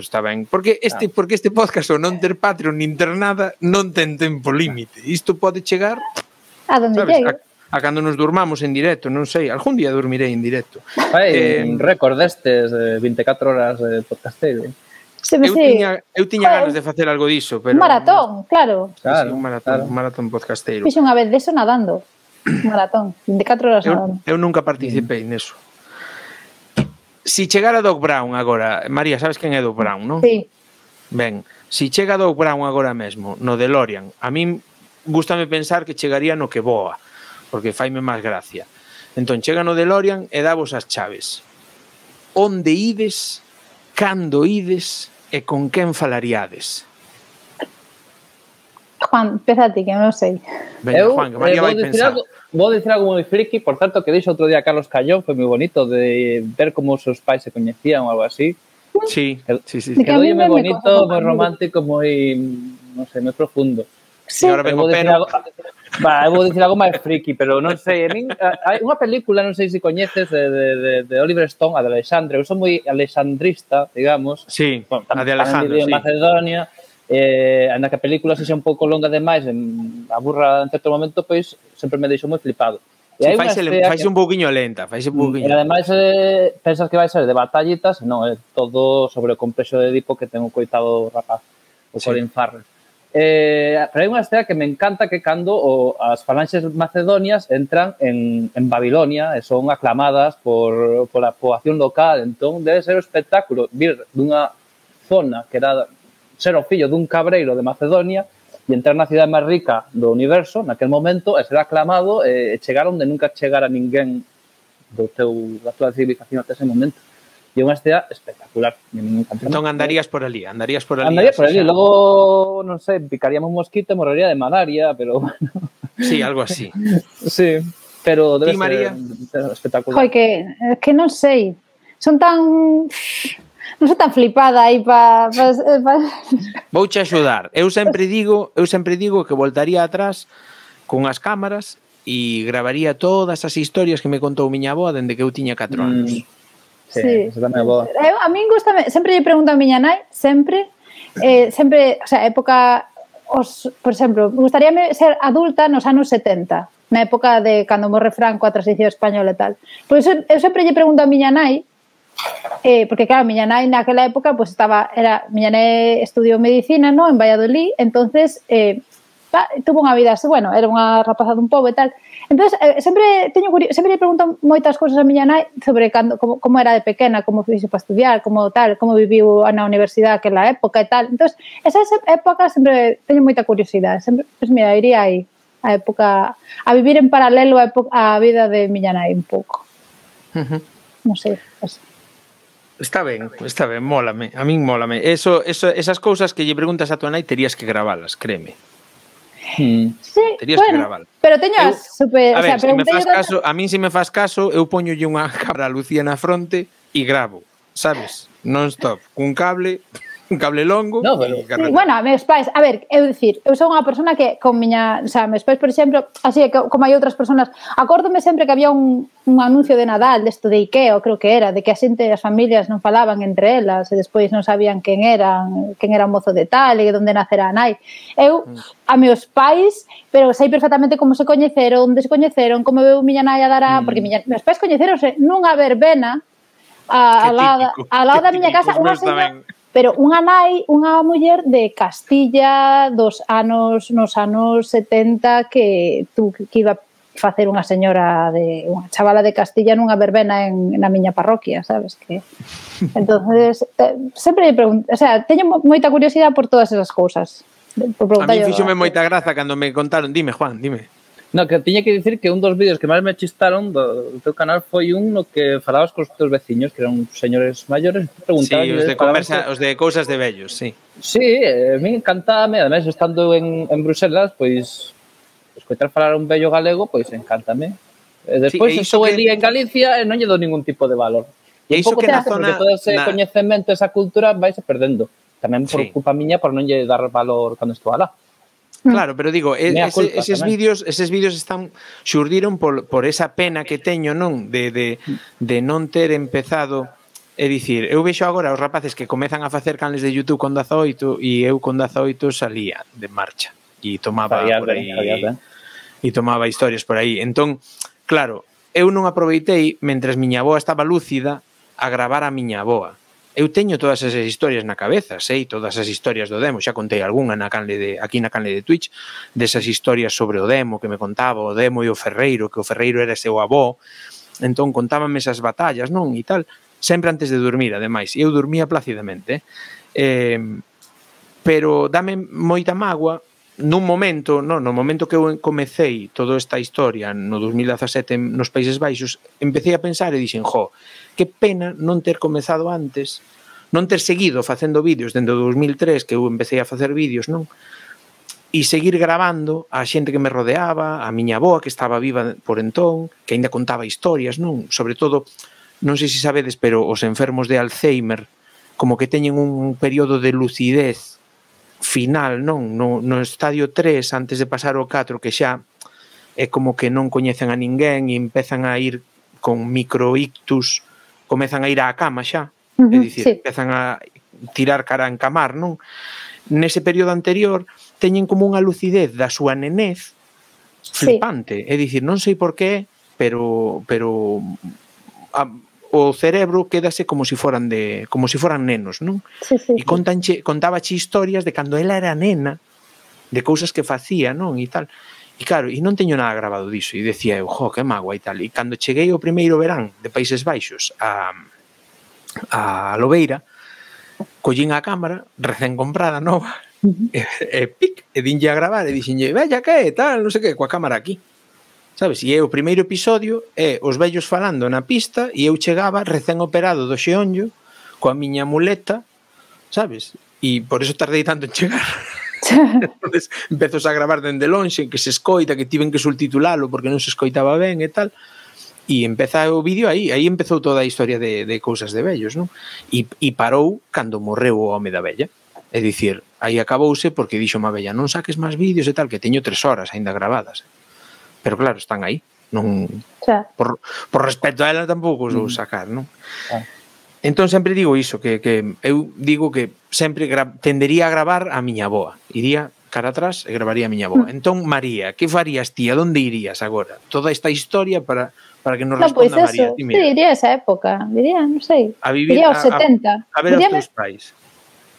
Porque este podcast o non ter Patreon nin ter nada non ten tempo límite. Isto pode chegar a donde llegue. A cando nos durmamos en directo, non sei, algún día dormirei en directo. Un récord destes de 24 horas de podcasteiro. Eu tiña ganas de facer algo diso, pero... Un maratón, claro. Un maratón podcasteiro. Fixe unha vez deso nadando. Un maratón, 24 horas nadando. Eu nunca participei neso. Si chegara Doc Brown agora, María, sabes quen é Doc Brown, non? Sí. Ben, si chega Doc Brown agora mesmo, no DeLorean, a min gústame pensar que chegaría no que voa, porque faime máis gracia. Entón, chega no DeLorean e davos as chaves. Onde ides, cando ides e con quen falaríades? Juan, empezate, que non sei. Venga, Juan, que María vai pensar. Vou dicir algo moi friki, por tanto, que dixo outro día Carlos Callón, foi moi bonito de ver como os seus pais se coñecían ou algo así. Sí. Quedou moi bonito, moi romántico, moi, non sei, moi profundo. Sí. Ahora vengo pero... Eu vou dicir algo máis friki, pero non sei, hai unha película, non sei se coñeces, de Oliver Stone, a de Alexandre. Eu son moi alexandrista, digamos. Sí, a de Alejandro, sí. Macedonia, anda que a película sexa un pouco longa demais, aburra en certo momento, pois sempre me deixou moi flipado. Sí, faise un pouquiño lenta, faise un pouquiño. E ademais pensas que vai ser de batallitas, non, é todo sobre o complexo de Edipo que ten o coitado rapaz, o Colin Farrell. Pero hai unha escena que me encanta, que cando as falanxes macedonias entran en Babilonia e son aclamadas pola poboación local, entón debe ser o espectáculo vir dunha zona que era ser o fillo dun cabreiro de Macedonia e entrar na cidade máis rica do universo naquel momento e ser aclamado e chegar onde nunca chegara ninguén da tua civilización até ese momento. E unha estea espectacular. Entón andarías por ali. Andaría por ali. Logo, non sei, picaríamos un mosquito e morrería de malaria, pero bueno. Sí, algo así. Sí, pero debe ser espectacular. Joi, que non sei. Son tan... Non sou tan flipada aí para... Vouche axudar. Eu sempre digo que voltaría atrás con as cámaras e gravaría todas as historias que me contou miña avó dende que eu tiña 4 anos. Sí, a min gustame, sempre lle pregunto a miña nai, sempre, o sea, época, por exemplo, gustaríame ser adulta nos anos 70, na época de cando morre Franco, a transición española e tal. Por iso, eu sempre lle pregunto a miña nai porque claro, miña nai naquela época pues miña nai estudiou medicina, no, en Valladolid, entonces tuvo unha vida, bueno, era unha rapaza dun pobo e tal. Entonces, sempre lle pregunto moitas cousas a miña nai sobre como era de pequena, como fixe para estudiar, como viviu na universidade aquela época e tal. Entonces, esas épocas sempre teño moita curiosidade. Sempre, pues mira, iría aí a época, a vivir en paralelo a vida de miña nai un pouco. Non sei, así. Está ben, mólame, a min mólame. Esas cousas que lle preguntas a tua nai terías que gravalas, créeme. Sí, terías que gravalas. Pero teño super, a ver, a min se me faz caso, eu poñolle unha cámara a Lucía na fronte e gravo, sabes? Non stop, cun cable longo. No, pero... Sí, bueno, meus pais, a ver, eu sou unha persona que con miña, o sea, meus pais, por exemplo, así como hai outras personas, acórdome sempre que había un anuncio de Nadal desto de Ikea, creo que era, de que a xente as familias non falaban entre elas e despois non sabían quen era o mozo de tal e onde nacera a nai. Eu, a meus pais, pero sei perfectamente como se coñeceron, onde se coñeceron, como veu miña nai a dar porque meus pais coñeceronse nunha verbena ao lado da miña casa, unha señora... Pero unha muller de Castilla nos anos 70 que iba a facer unha chavala de Castilla nunha verbena na miña parroquia, sabes? Entonces, sempre pregunto, o sea, teño moita curiosidade por todas esas cousas. A mí fíxome moita graza cando me contaron, dime, Juan, dime. No, que tiña que dicir que un dos vídeos que máis me chistaron do teu canal foi un no que falabas cos teus veciños, que eran señores maiores, sí, os de cousas de vellos, sí. Sí, a mí encantame, ademais, estando en Bruselas, pois, escoitar falar un vello galego, pois, encántame. Despois, estou el día en Galicia e non lle dou ningún tipo de valor. E iso que na zona... Porque todo ese coñecemento, esa cultura, vais perdendo. Tamén por culpa miña, por non lle dar valor cando estou alá. Claro, pero digo, eses vídeos xurdiron por esa pena que teño, non? De non ter empezado, é dicir, eu vexo agora os rapaces que comezan a facer canles de YouTube con 18 e eu con 18 salía de marcha e tomaba por aí e tomaba historias por aí. Entón, claro, eu non aproveitei mentres miña avoa estaba lúcida a gravar a miña avoa. Eu teño todas esas historias na cabeza, sei todas as historias do demo, xa contei algunha aquí na canle de Twitch, desas historias sobre o demo que me contaba o demo e o Ferreiro, que o Ferreiro era seu avó, entón contábame esas batallas, non? E tal, sempre antes de dormir, ademais, e eu dormía plácidamente, pero dame moita mágoa, no momento que eu comecei toda esta historia no 2017 nos Países Baixos, empecé a pensar e dixen, que pena non ter comezado antes, non ter seguido facendo vídeos dende o 2003 que eu empecé a facer vídeos, non? E seguir gravando a xente que me rodeaba, a miña avoa que estaba viva por entón, que aínda contaba historias, non? Sobre todo, non sei se sabedes, pero os enfermos de Alzheimer como que teñen un período de lucidez final, non? No estadio 3, antes de pasar ao 4, que xa é como que non coñecen a ninguén e empezan a ir con microictus, comezan a ir á cama xa, é dicir, empezan a tirar cara a encamar, non? Nese período anterior teñen como unha lucidez da súa nenez flipante, é dicir, non sei por qué, pero o cerebro quédase como se foran nenos, non? E contábache historias de cando ela era nena, de cousas que facía, non? E tal. E claro, e non teño nada grabado diso, e decía eu, que mágoa e tal. E cando cheguei o primeiro verán de Países Baixos a Lobeira, collín a cámara, recén comprada, nova, e dinlle a gravar, e dixenlle, vella que tal, non sei que, coa cámara aquí. Sabes? E o primeiro episodio é os vellos falando na pista e eu chegaba recén operado do xeonllo coa miña muleta, sabes? E por eso tardei tanto en chegar. Entonces empezos a gravar dende lonxe, que se escoita, que tiven que subtitulalo porque non se escoitaba ben e tal, e empeza o vídeo aí empezou toda a historia de cousas de vellos, non? E parou cando morreu o home da vella, é dicir, aí acabouse porque dixo má vella, non saques máis vídeos e tal, que teño 3 horas aínda gravadas, pero claro, están aí, non por respecto a ela tampouco os vou sacar, non? Entón sempre digo iso, que eu digo que sempre tendería a gravar a miña avoa. Iría cara atrás e gravaría a miña avoa. Entón, María, que farías ti? A donde irías agora? Toda esta historia para Para que nos No, pois responda María. eso, sí, diría esa época, diría, non sei, A vivir, diría os 70. a ver os teus pais.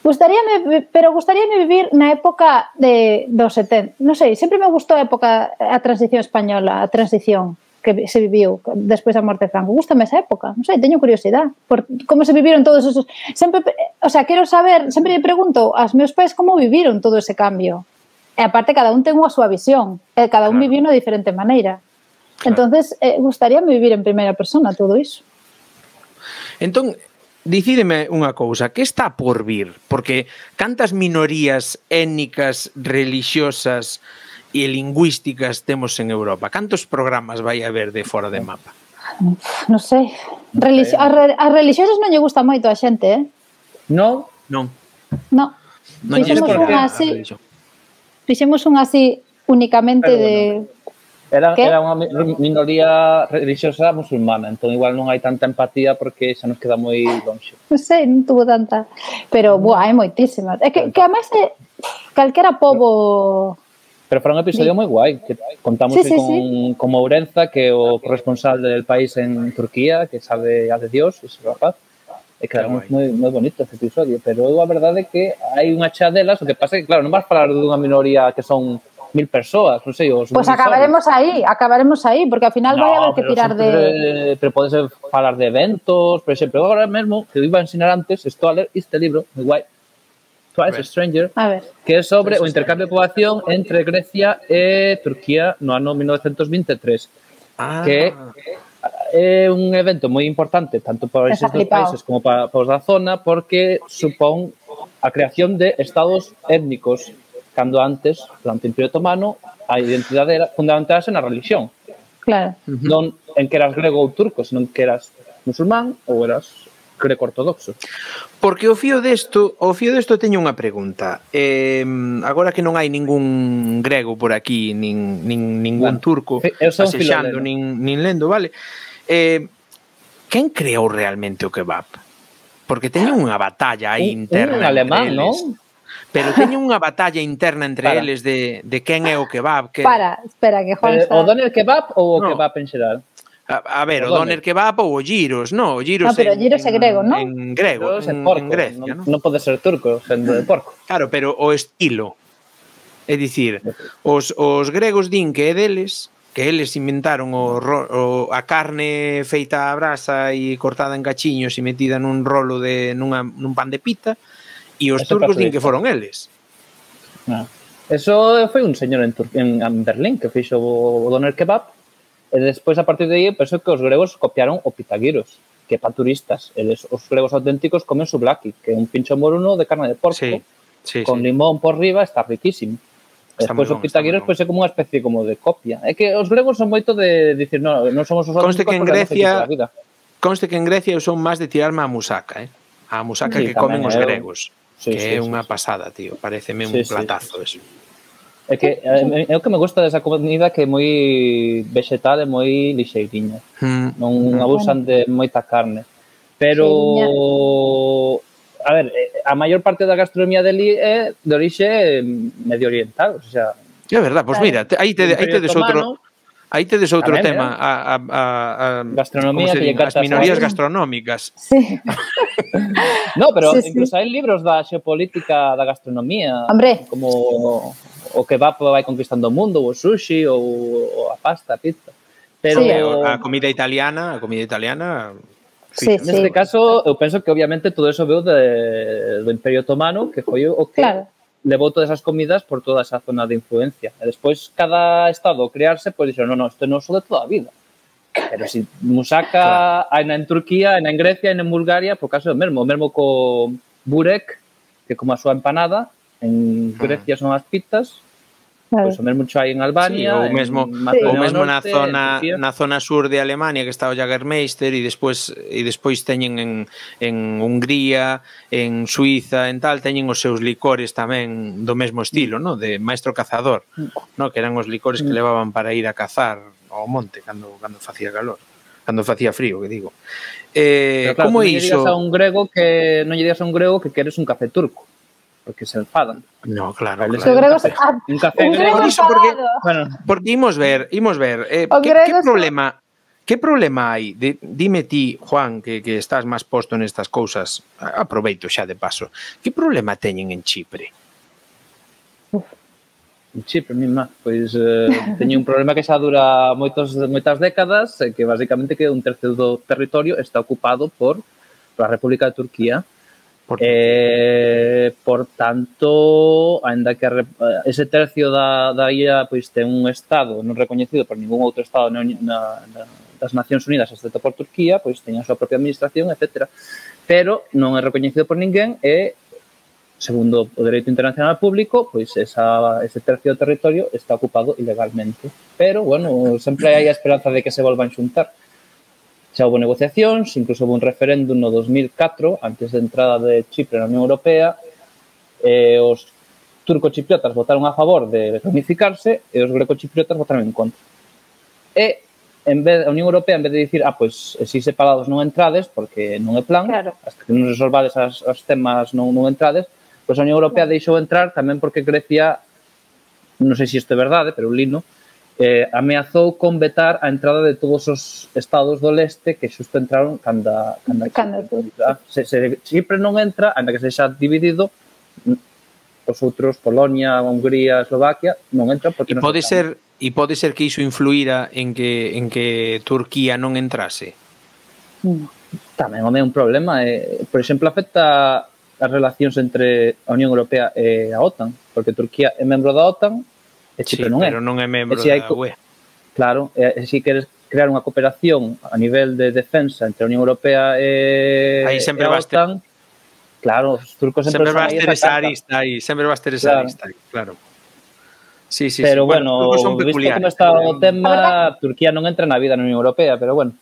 Gustaríame vivir na época dos 70. Non sei, sempre me gustou a transición española, a transición que se viviu despois da morte de Franco. Gústame esa época, non sei, teño curiosidade por como se viviron todos esos... Sempre, o sea, quero saber, sempre me pregunto aos meus pais como viviron todo ese cambio. E aparte, cada un ten unha súa visión, cada un viviu unha diferente maneira. Entonces, gustaríame vivir en primeira persona todo iso. Entón, dicídeme unha cousa, que está por vir? Porque cantas minorías étnicas, religiosas e lingüísticas temos en Europa? Cantos programas vai haber de fora de mapa? Non sei. As religiosas non lle gusta moito a xente, Non? Non. Non. Fixemos un así únicamente de... Era unha minoría religiosa musulmana, entón igual non hai tanta empatía porque xa nos queda moi longe. Non sei, non tuvo tanta... Pero, hai moitísimas. É que además calquera pobo... Pero foi un episodio moi guai, que contamos con Ourenza, que é o corresponsal del país en Turquía, que sabe a de Dios, ese rapaz, e quedamos moi bonito ese episodio, pero a verdade é que hai unha chea delas, o que pasa é que, claro, non vas falar dunha minoría que son 1000 persoas, non sei, os... Pois acabaremos aí, porque ao final vai haber que tirar de... Pero podes falar de eventos, por exemplo, agora mesmo, que eu iba a ensinar antes, estou a ler este libro, moi guai, Twice a Stranger, que é sobre o intercambio de poboación entre Grecia e Turquía no ano 1923, que é un evento moi importante tanto para esos dos países como para os da zona, porque supón a creación de estados étnicos, cando antes, durante o Imperio Otomano, a identidade era fundamentarse na religión. Claro. Non en que eras grego ou turco, senón que eras musulmán ou eras greco-ortodoxo. Porque o fío desto teño unha pregunta. Agora que non hai ningún grego por aquí, ningún turco asexando, nin lendo, vale? Quen creou realmente o kebab? Porque teñen unha batalla aí interna. Un alemán, non? Pero teñen unha batalla interna entre eles de quen é o kebab. Espera, que Juan está... O doner kebab ou o kebab en xeral? A ver, o doner kebab ou o gyros, non? O gyros pero o gyros é grego, non? En grego, en Grecia, non? Non pode ser turco, sendo de porco. Claro, pero o estilo. É dicir, os gregos din que é deles, que eles inventaron a carne feita a brasa e cortada en cachiños e metida nun rolo nun pan de pita, e os turcos din que foron eles. Eso foi un señor en Berlín que fixo o doner kebab, e despois, a partir de aí, penso que os gregos copiaron o pitaguiros, que para turistas. Os gregos auténticos comen souvlaki, que é un pincho moruno de carne de porco, con limón por riba, está riquísimo. Despois o pitaguiros é como unha especie como de copia. É que os gregos son moito de dicir, non somos os auténticos porque non se quita a vida. Conste que en Grecia son máis de tirarme a musaca, a musaca que comen os gregos. Que é unha pasada, tío. Pareceme un platazo eso. É que é o que me gusta desa comida, que é moi vegetal e moi lixeiriña. Non abusan de moita carne. Pero, a ver, a maior parte da gastronomía deli é de orixe medio oriental, o sea... É verdad, pois mira, aí tedes outro... Aí tedes outro tema, a gastronomía, as minorías gastronómicas. Sí. No, pero incluso hai libros da xeopolítica da gastronomía, como o kebab vai conquistando o mundo, o sushi, ou a pasta, a pizza. Pero a comida italiana, neste caso, eu penso que obviamente todo eso veu do Imperio Otomano, que foi o que levou todas as comidas por toda esa zona de influencia. E despois, cada estado crearse, pois dixeron, non, isto non é só de toda a vida. Pero si musaca hai en Turquía, hai en Grecia, hai en Bulgaria, por caso é o mesmo co burek, que como a súa empanada, en Grecia son as pizzas, pois o mesmo hai en Albania, ou mesmo na zona sur de Alemania, que está o Jägermeister, e despois teñen en Hungría, en Suiza, en tal, teñen os seus licores tamén do mesmo estilo, no? De maestro cazador, no? Que eran os licores que levaban para ir a cazar ao monte cando facía calor, cando facía frío, que digo. Claro, como é iso? Non lle digas a un grego que queres un café turco, porque se enfadan. No, claro. Un café grego. Porque imos ver, que problema Que problema hai? Dime ti, Juan, que estás máis posto nestas cousas, aproveito xa de paso, que problema teñen en Chipre? En Chipre, mima, pois teñen un problema que xa dura moitas décadas, que basicamente que un tercio do territorio está ocupado por a República de Turquía. Por tanto, ainda que ese tercio da illa pois ten un estado non recoñecido por ningún outro estado das Nacións Unidas, excepto por Turquía, pois ten a súa propia administración, etc. Pero non é recoñecido por ninguén e, segundo o dereito internacional público, pois ese tercio do territorio está ocupado ilegalmente. Pero, bueno, sempre hai a esperanza de que se volvan xuntar. Xa houve negociacións, incluso houve un referéndum no 2004, antes da entrada de Chipre na Unión Europea, os turco-chipriotas votaron a favor de reunificarse e os greco-chipriotas votaron en contra. E a Unión Europea, en vez de dicir, pois, si separados non entrades, porque non é plan, hasta que non resolvades os temas non entrades, pois a Unión Europea deixou entrar tamén porque Grecia, non sei se isto é verdade, pero un lino, ameazou con vetar a entrada de todos os estados do leste que xusto entraron cando se Chipre non entra, ainda que sexa dividido, os outros, Polonia, Hungría, Eslovaquia, non entran porque non se E pode ser que iso influíra en que Turquía non entrase? Tamén é un problema. Por exemplo, afecta as relacións entre a Unión Europea e a OTAN, porque Turquía é membro da OTAN e Chipre non é. Pero non é membro da UE. Claro, e se queres crear unha cooperación a nivel de defensa entre a Unión Europea e a OTAN, claro, os turcos sempre vas ter esa arista aí, sempre vas ter esa arista aí, claro. Sí, pero bueno, visto como está o tema, Turquía non entra na vida na Unión Europea, pero bueno,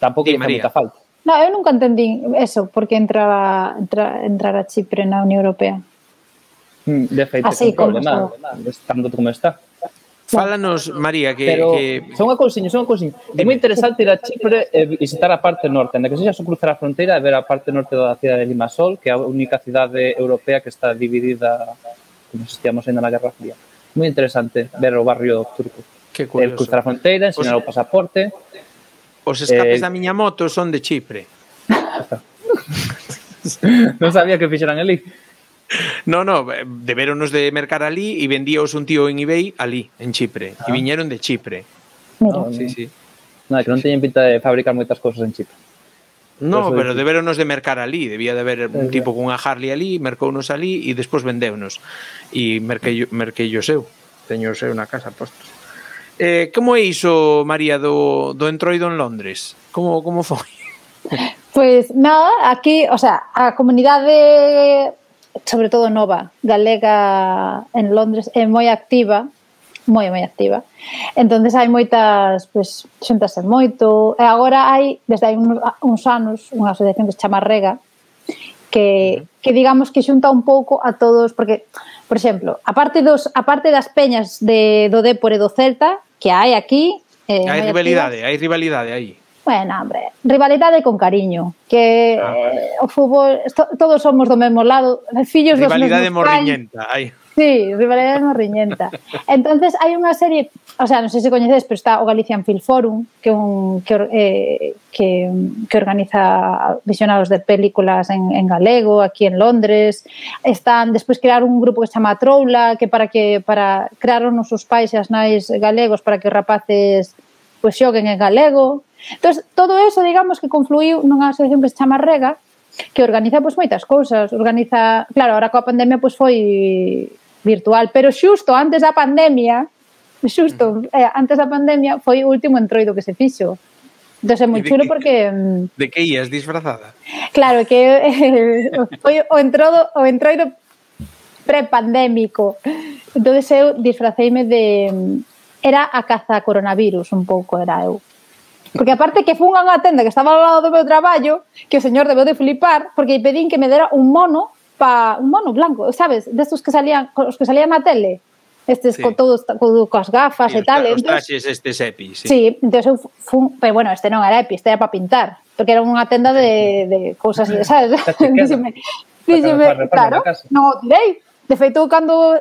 tampouco lle fai moita falta. No, eu nunca entendín eso, porque entrar a Chipre na Unión Europea. De feito, é un problema, estando como está. Fálanos, María, que... Pero son unha cousiña. É moi interesante ir a Chipre e visitar a parte norte, ainda que sexa só cruzar a fronteira e ver a parte norte da cidade de Limassol, que é a única cidade europea que está dividida, como se estíamos ainda na Guerra Fría. Moi interesante ver o barrio turco. Que curioso. Cruzar a fronteira, ensinar o pasaporte. Os escapes da miña moto son de Chipre. Non sabía que fixeran ali. No, debéronos de mercar ali e vendíos un tío en eBay ali, en Chipre. E viñeron de Chipre. Sí. Non, que non teñen pinta de fabricar moitas cousas en Chipre. No, pero debéronos de mercar ali. Debía de haber un tipo cunha Harley ali, mercounos ali e despois vendeunos. E merquei o seu. Teño o seu na casa postos. Como é iso, María, do entroido en Londres? Como foi? Pois nada, aquí, o sea, a comunidade, sobre todo nova, galega en Londres, é moi activa, moi activa. Entonces hai moitas, pois, xúntase moito. E agora hai, desde hai uns anos, unha asociación que se chama Rega, que digamos que xunta un pouco a todos, porque, por exemplo, aparte das peñas do Dépor e do Celta, que hai aquí... Hai rivalidade aí. Bueno, hombre, rivalidade con cariño, que o fútbol, todos somos do mesmo lado, fillos dos mesmos rivalidade morriñenta, hai. Sí, rivalidade morriñenta. Entonces hai unha serie, o sea, non sei se coñecedes, pero está o Galician Film Forum, que organiza visionados de películas en galego, aquí en Londres. Despois crear un grupo que se chama Troula, que para crear os nosos pais e as nais galegos para que os rapaces pois xoguen en galego. Entón, todo eso, digamos, que confluiu nunha asociación que se chama Rega, que organiza pois moitas cousas. Organiza, claro, ahora coa pandemia pois foi virtual, pero xusto antes da pandemia foi o último entroido que se fixo. Entón é moi chulo porque... De que ías disfrazada? Claro, que foi o entroido prepandémico. Entón eu disfraceime de... Era a caza coronavirus, un pouco era eu. Porque aparte que fun a unha tenda que estaba ao lado do meu traballo, que o señor debeu de flipar, porque pedín que me dera un mono blanco, sabes? Destos que salían, os que salían na tele. Estes con todos, coas gafas e tal. Os traxes estes EPI, sí. Sí, entón eu fun, pero bueno, este non era EPI, este era para pintar, porque era unha tenda de cousas, sabes? Díxeme, claro, non o tirei. De feito, cando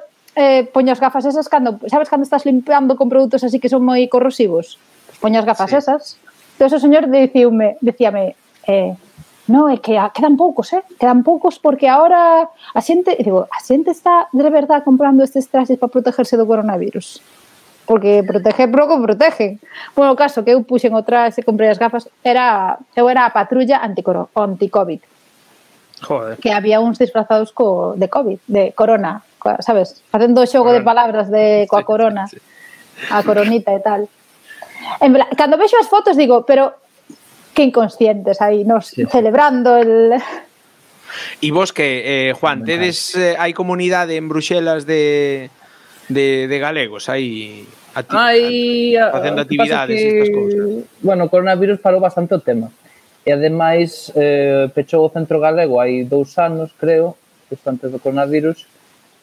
poño as gafas esas, sabes cando estás limpiando con produtos así que son moi corrosivos? poño as gafas esas. Entón, o señor dicíame, no, é que quedan poucos, quedan poucos porque agora a xente está de verdade comprando estes traxes para protegerse do coronavirus. Porque proteger pouco protegen. Bueno, o caso que eu puxen o traxe e comprei as gafas, eu era a patrulla anti-COVID. Joder. Que había uns disfrazados de COVID, de corona, sabes? Facendo o xogo de palabras coa corona, a coronita e tal. Cando vexo as fotos digo, pero que inconscientes aí, nos celebrando el... E vos que, Juan, tedes hai comunidade en Bruxelas de galegos aí facendo actividades e estas cousas? Bueno, o coronavirus parou bastante o tema. E ademais pechou o Centro Galego hai 2 anos, creo, justo antes do coronavirus.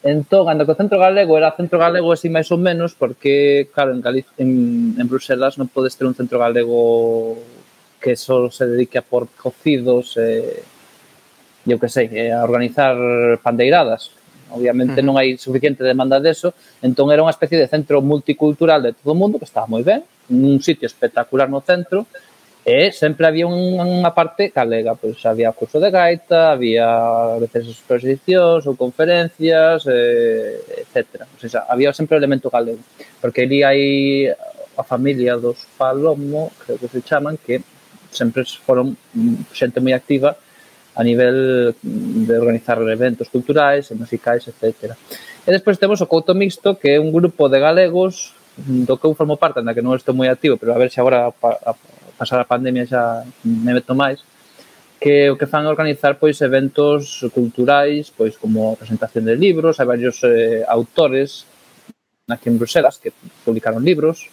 Entón, anda que o Centro Galego era Centro Galego así máis ou menos, porque, claro, en Bruxelas non podes ter un Centro Galego que só se dedique a por cocidos eu que sei, a organizar pandeiradas. Obviamente non hai suficiente demanda deso, entón era unha especie de centro multicultural de todo o mundo que estaba moi ben, un sitio espectacular no centro, e sempre había unha parte galega, pois había curso de gaita, había a veces exposicións ou conferencias, etc. O sea, había sempre o elemento galego, porque ali hai a familia dos Palomo, creo que se chaman, que sempre foron xente moi activa a nivel de organizar eventos culturais e musicais, etc. E despois temos o Couto Mixto, que é un grupo de galegos do que eu formo parte, na que non estou moi activo, pero a ver se agora a pasar a pandemia xa me meto máis, que o que fan organizar pois eventos culturais, pois como a presentación de libros, hai varios autores aquí en Bruxelas que publicaron libros,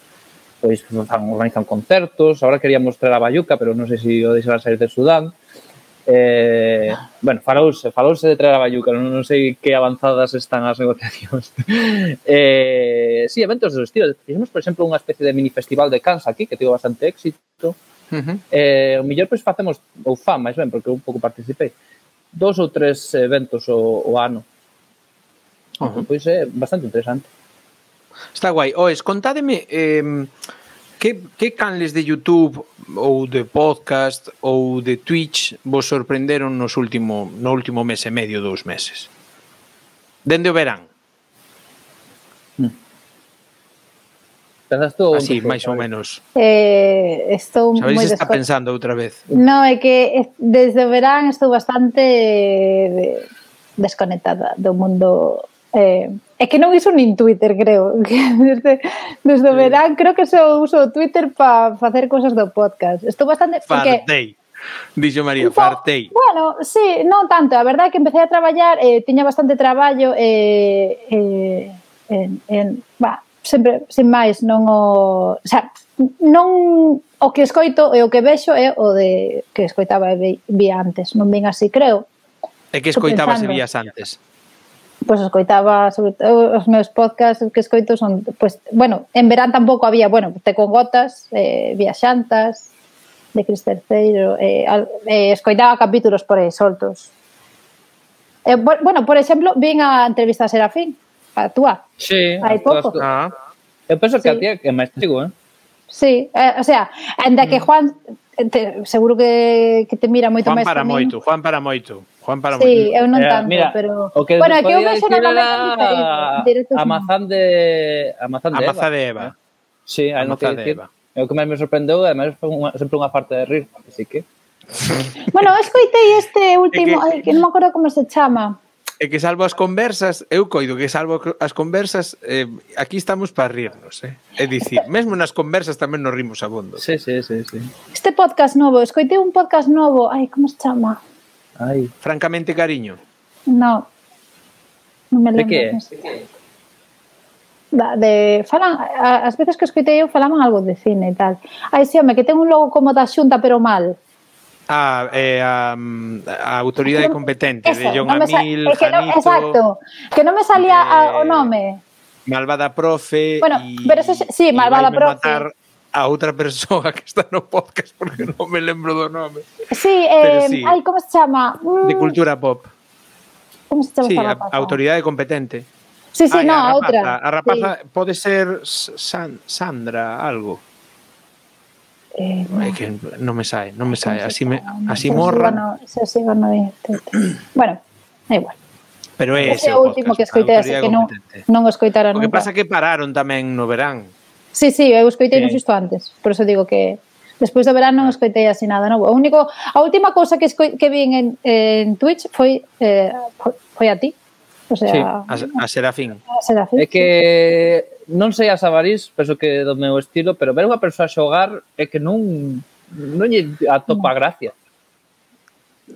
pois organizan concertos, agora quería mostrar a Bayuca, pero non sei se o deixarán sair de Sudán. Bueno, falouse de traer a Bayuca, non sei que avanzadas están as negociacións. Sí, eventos do estilo. Fixemos, por exemplo, unha especie de mini festival de Cans aquí, que tivo bastante éxito. O mellor, pois, facemos, ou fan, máis ben, porque eu un pouco participei, 2 ou 3 eventos o ano. Pois é bastante interesante. Está guai. Oes, contádeme que canles de YouTube ou de podcast ou de Twitch vos sorprenderon no último mes e medio, 2 meses? Dende o verán. Pensas tú? Así, máis ou menos. Estou moi está pensando outra vez? No, é que desde o verán estou bastante desconectada do mundo. É que non uso nin Twitter, creo. Desde o verán creo que só uso Twitter para facer cosas do podcast. Estou bastante... Fartei. Dixo María, fartei. Bueno, sí, non tanto. A verdade é que empecé a traballar, tiña bastante traballo sempre, sin máis, non o... O sea, non o que escoito e o que vexo é o de que escoitaba e vía antes. Non vin así, creo. E que escoitabas e vías antes? Pois escoitaba, sobre todo, os meus podcasts que escoito son, pois, bueno, en verán tampouco había, bueno, Te con Gotas, Viaxantas, de Cris Terceiro, escoitaba capítulos por aí soltos. Bueno, por exemplo, vin a entrevista a Serafín, a túa. Sí. Hai pouco. Eu penso que a tía é máis trigo, Sí, o sea, ainda que Juan, seguro que te mira moito máis que min. Juan para moito. Sí, eu non tanto, mira, pero... O que bueno, que eu vexo normalmente a mazán de Eva. Sí, hai non que decir. É o que máis me sorprendeu, ademais foi sempre unha parte de rir, así que... Bueno, escoitei este último, que non me acordo como se chama. É que salvo as conversas, eu coido que salvo as conversas, aquí estamos para rirnos, É dicir, mesmo nas conversas tamén nos rimos abondo. Sí. Este podcast novo, escoitei un podcast novo, como se chama? Francamente cariño. Non me lembro. De que? Falan, as veces que escoitei eu falaban algo de cine e tal. Sí, home, que ten un logo como da Xunta pero mal. A autoridade competente de John Amil, Janito. Exacto, que non me salía o nome. Malvada profe. Bueno, pero eso sí, malvada profe. Matar a outra persoa que está no podcast porque non me lembro do nome. Sí, sí. Como se chama? De cultura pop. Como se chama esta rapaza? Autoridade competente. Sí, a outra. A rapaza pode ser Sandra algo. É que non me sae, así morra. Se sigo no bueno, é igual. Pero ese é o último que escoitei, así que non o escoitara nunca. O que pasa que pararon tamén no verán. Sí, eu escoitei non xusto antes, por eso digo que despois do verán non escoitei así nada novo. A última cousa que vi en Twitch foi a ti. O sea, a Serafín. É que non sei a Sabarís, penso que do meu estilo, pero ver unha persoa xogar é que non lle atopa gracia.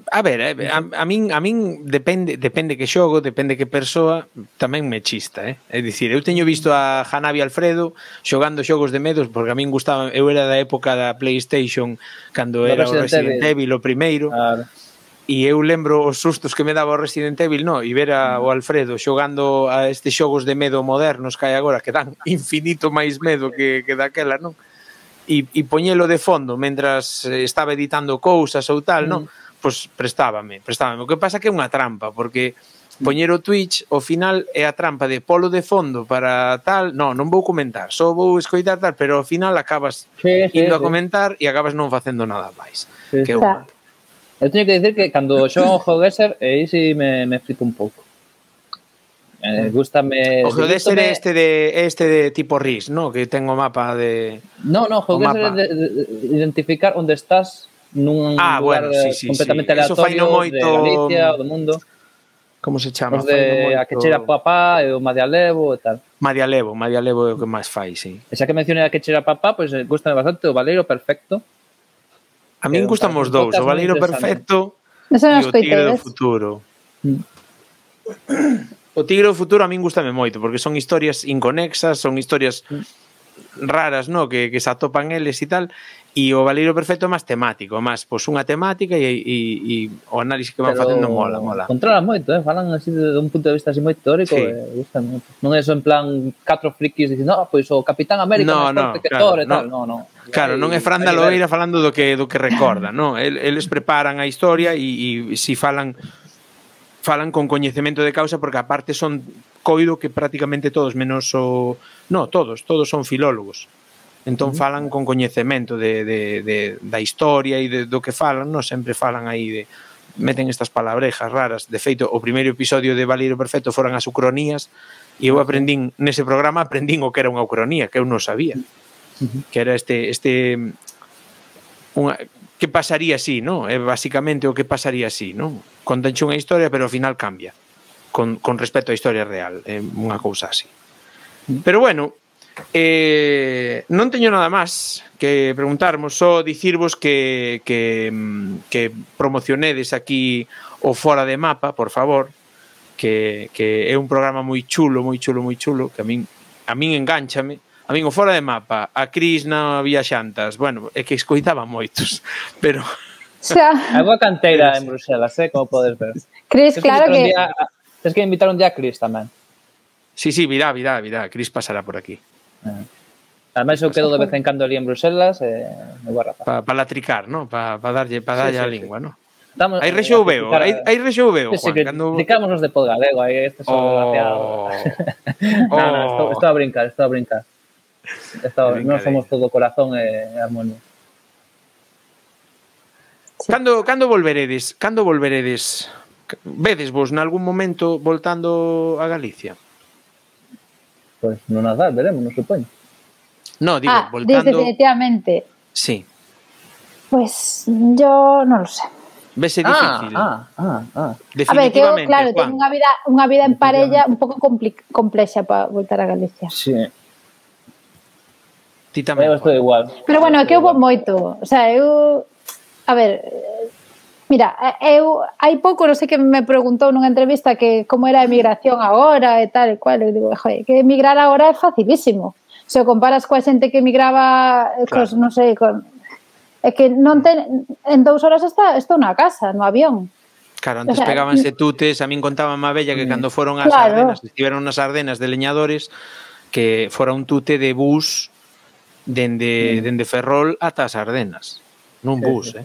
A ver, a min depende que xogo, depende que persoa, tamén me chista, É dicir, eu teño visto a Hanabi Alfredo xogando xogos de medos, porque a min gustaba, eu era da época da PlayStation, cando era o Resident Evil o primeiro, e eu lembro os sustos que me daba o Resident Evil, e ver o Alfredo xogando a estes xogos de medo modernos que hai agora, que dan infinito máis medo que daquela, non? E poñelo de fondo, mentras estaba editando cousas ou tal, non? Pois prestábame. O que pasa que é unha trampa, porque poñer o Twitch, ao final é a trampa de polo de fondo para tal, non vou comentar, só vou escoitar tal, pero ao final acabas indo a comentar e acabas non facendo nada máis. Que é unha... Eu teño que dicir que cando xogo o GeoGuessr, aí si me flipo un pouco. Gústame... O GeoGuessr é este de tipo RIS, non? Que ten o mapa de... Non, GeoGuessr é de identificar onde estás nun lugar completamente aleatorio de Galicia ou do mundo. Como se chama? Os de a Quechera Papá e o Madialevo e tal. Madialevo é o que máis fai, sí. E xa que mencionei a Quechera Papá, pois gustame bastante o Valeiro Perfecto. A min gustan os dous, o Valeiro Perfecto e o Tigre do Futuro. O Tigre do Futuro a min gustame moito, porque son historias inconexas, son historias raras, que se atopan eles e tal, e o Valeiro Perfecto é máis temático, máis unha temática e o análise que van facendo mola. Controlan moito, falan así de un punto de vista así moi teórico, gustan moito. Non é só en plan 4 frikis dicindo, pois o Capitán América máis forte que Thor e tal, non. Claro, non é Fran da Loeira falando do que recorda, non? Eles preparan a historia e si falan con coñecemento de causa, porque aparte son coido que prácticamente todos, menos o... Non, todos son filólogos. Entón falan con coñecemento da historia e do que falan, non sempre falan aí meten estas palabrejas raras. De feito, o primeiro episodio de Valeiro Perfecto foran as ucronías e eu nese programa aprendín o que era unha ucronía, que eu non sabía. Que era que pasaría así, non? É basicamente o que pasaría así, non? Contanche unha historia, pero ao final cambia con respecto á historia real. É unha cousa así. Pero bueno, non teño nada máis que preguntarmos, só dicirvos que promocionedes aquí o Fora de Mapa, por favor, que é un programa moi chulo, que a min engánchame. A min o Fora de Mapa, a Cris na Viaxantas, bueno, é que escoitaba moitos, pero... Hai boa canteira en Bruxelas, como podes ver. Cris, claro que... Tens que invitar un día a Cris tamén. Sí, virá, Cris pasará por aquí. Ademais, eu quedo de vez en cando ali en Bruxelas, me vou a rapar. Para latricar, non? Para darlle a lingua, non? Aí rexou veo, Juan. Criticámonos de Podgalego, aí este son desgraciado. Non, estou a brincar. Non somos todo corazón e armonía. Cando volveredes? Vedes vos nalgún momento voltando a Galicia? Pois no Nadal veremos, non supoño. No, digo, voltando... definitivamente. Sí. Pues yo non lo sé. Vese difícil. A ver, que eu, claro, teño unha vida en parella un pouco complexa para voltar a Galicia. Sí. Ti tamén. Eu estou igual. Pero bueno, é que eu vou moito. O sea, eu... A ver... Mira, hai pouco, non sei que me preguntou nunha entrevista que como era a emigración agora e tal e cual, eu digo, joder, que emigrar agora é facilísimo. Se o comparas coa xente que emigraba, claro. Non sei, é que non ten, en 2 horas estou na casa, no avión. Claro, antes pegábanse tutes, a min contaba má bella que cando foron ás Ardenas, estiveron nas Ardenas de leñadores, que fora un tute de bus dende Ferrol ata as Ardenas, nun bus,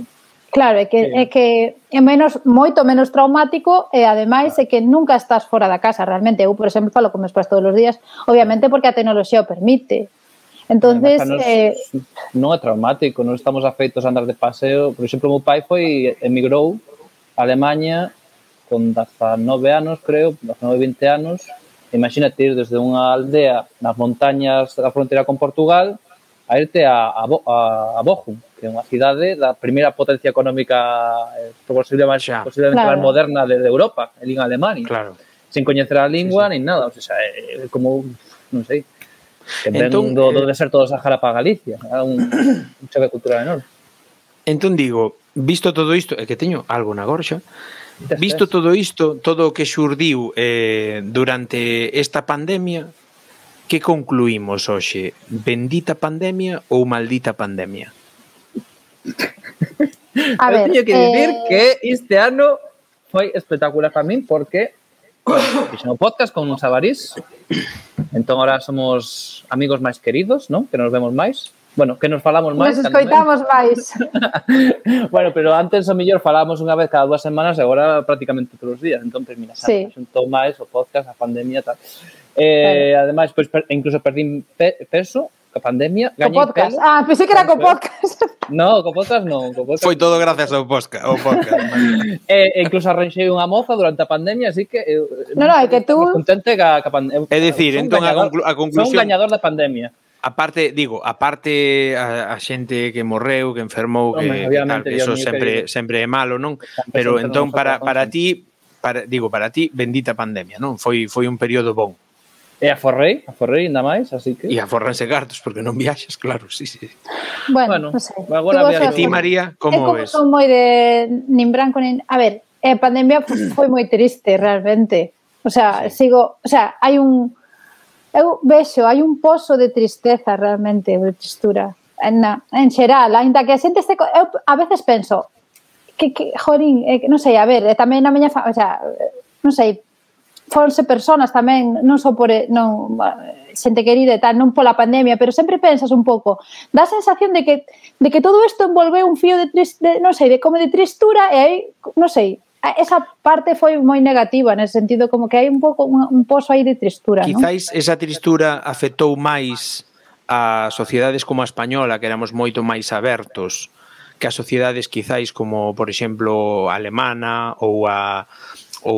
Claro, é que é moito menos traumático e ademais é que nunca estás fora da casa realmente. Eu, por exemplo, falo con meus pais todos os días, obviamente porque a tecnoloxía o permite. Entonces, non é traumático, non estamos afeitos a andar de paseo. Por exemplo, o meu pai emigrou a Alemanha con 19 anos, creo, 19, 20 anos. Imagínate ir desde unha aldea nas montañas da fronteira con Portugal a irte a Bochum, que é unha cidade da primeira potencia económica posiblemente máis moderna de Europa, en Alemania. Claro. Sin coñecer a lingua, nin nada. O sea, é como, non sei, que ven do deserto do Sahara para Galicia. É un choque cultural enorme. Entón digo, visto todo isto, é que teño algo na gorxa, visto todo isto, todo o que xurdiu durante esta pandemia, que concluímos hoxe? Bendita pandemia ou maldita pandemia? A ver, teño que dicir que este ano foi espectacular para min porque fixen o podcast con uns Sabarís. Entón, ahora somos amigos máis queridos, non? Que nos vemos máis. Bueno, que nos falamos máis. Nos escoitamos máis. Bueno, pero antes o mellor falábamos unha vez cada 2 semanas e agora prácticamente todos os días. Entón, mira, sí. xuntou máis o podcast, a pandemia e tal. Ademais, pues, incluso perdín peso, a pandemia, gañei podcast. pelo. Pensei que era co podcast. No, co podcast non. Foi todo gracias ao podcast. Incluso arranxei unha moza durante a pandemia, así que é que tú contente ca pandemia. É dicir, entón a conclusión, son gañador da pandemia. Aparte a xente que morreu, que enfermou, que tal, que eso sempre é malo, non? Pero entón para ti, bendita pandemia, non? Foi un período bon. E aforrei ainda máis, así que... E aforranse cartos, porque non viaxas, claro, sí. Bueno, non sei. E ti, María, como ves? Son moi de nin branco, nin... A ver, a pandemia foi moi triste, realmente. O sea, hai un... Eu vexo, hai un pozo de tristeza, realmente, de tristura. En xeral, ainda que a xente este... Eu a veces penso, jorín, non sei, a ver, tamén na miña... O sea, non sei, fonse personas tamén, non só por xente querida e tal, non pola pandemia, pero sempre pensas un pouco, dá a sensación de que todo isto envolveu un fío de non sei, de como de tristura e aí, non sei, esa parte foi moi negativa, nese sentido como que hai un pouco un pozo aí de tristura, non? Quizáis esa tristura afectou máis a sociedades como a española, que éramos moito máis abertos, que a sociedades quizáis como, por exemplo, a alemana ou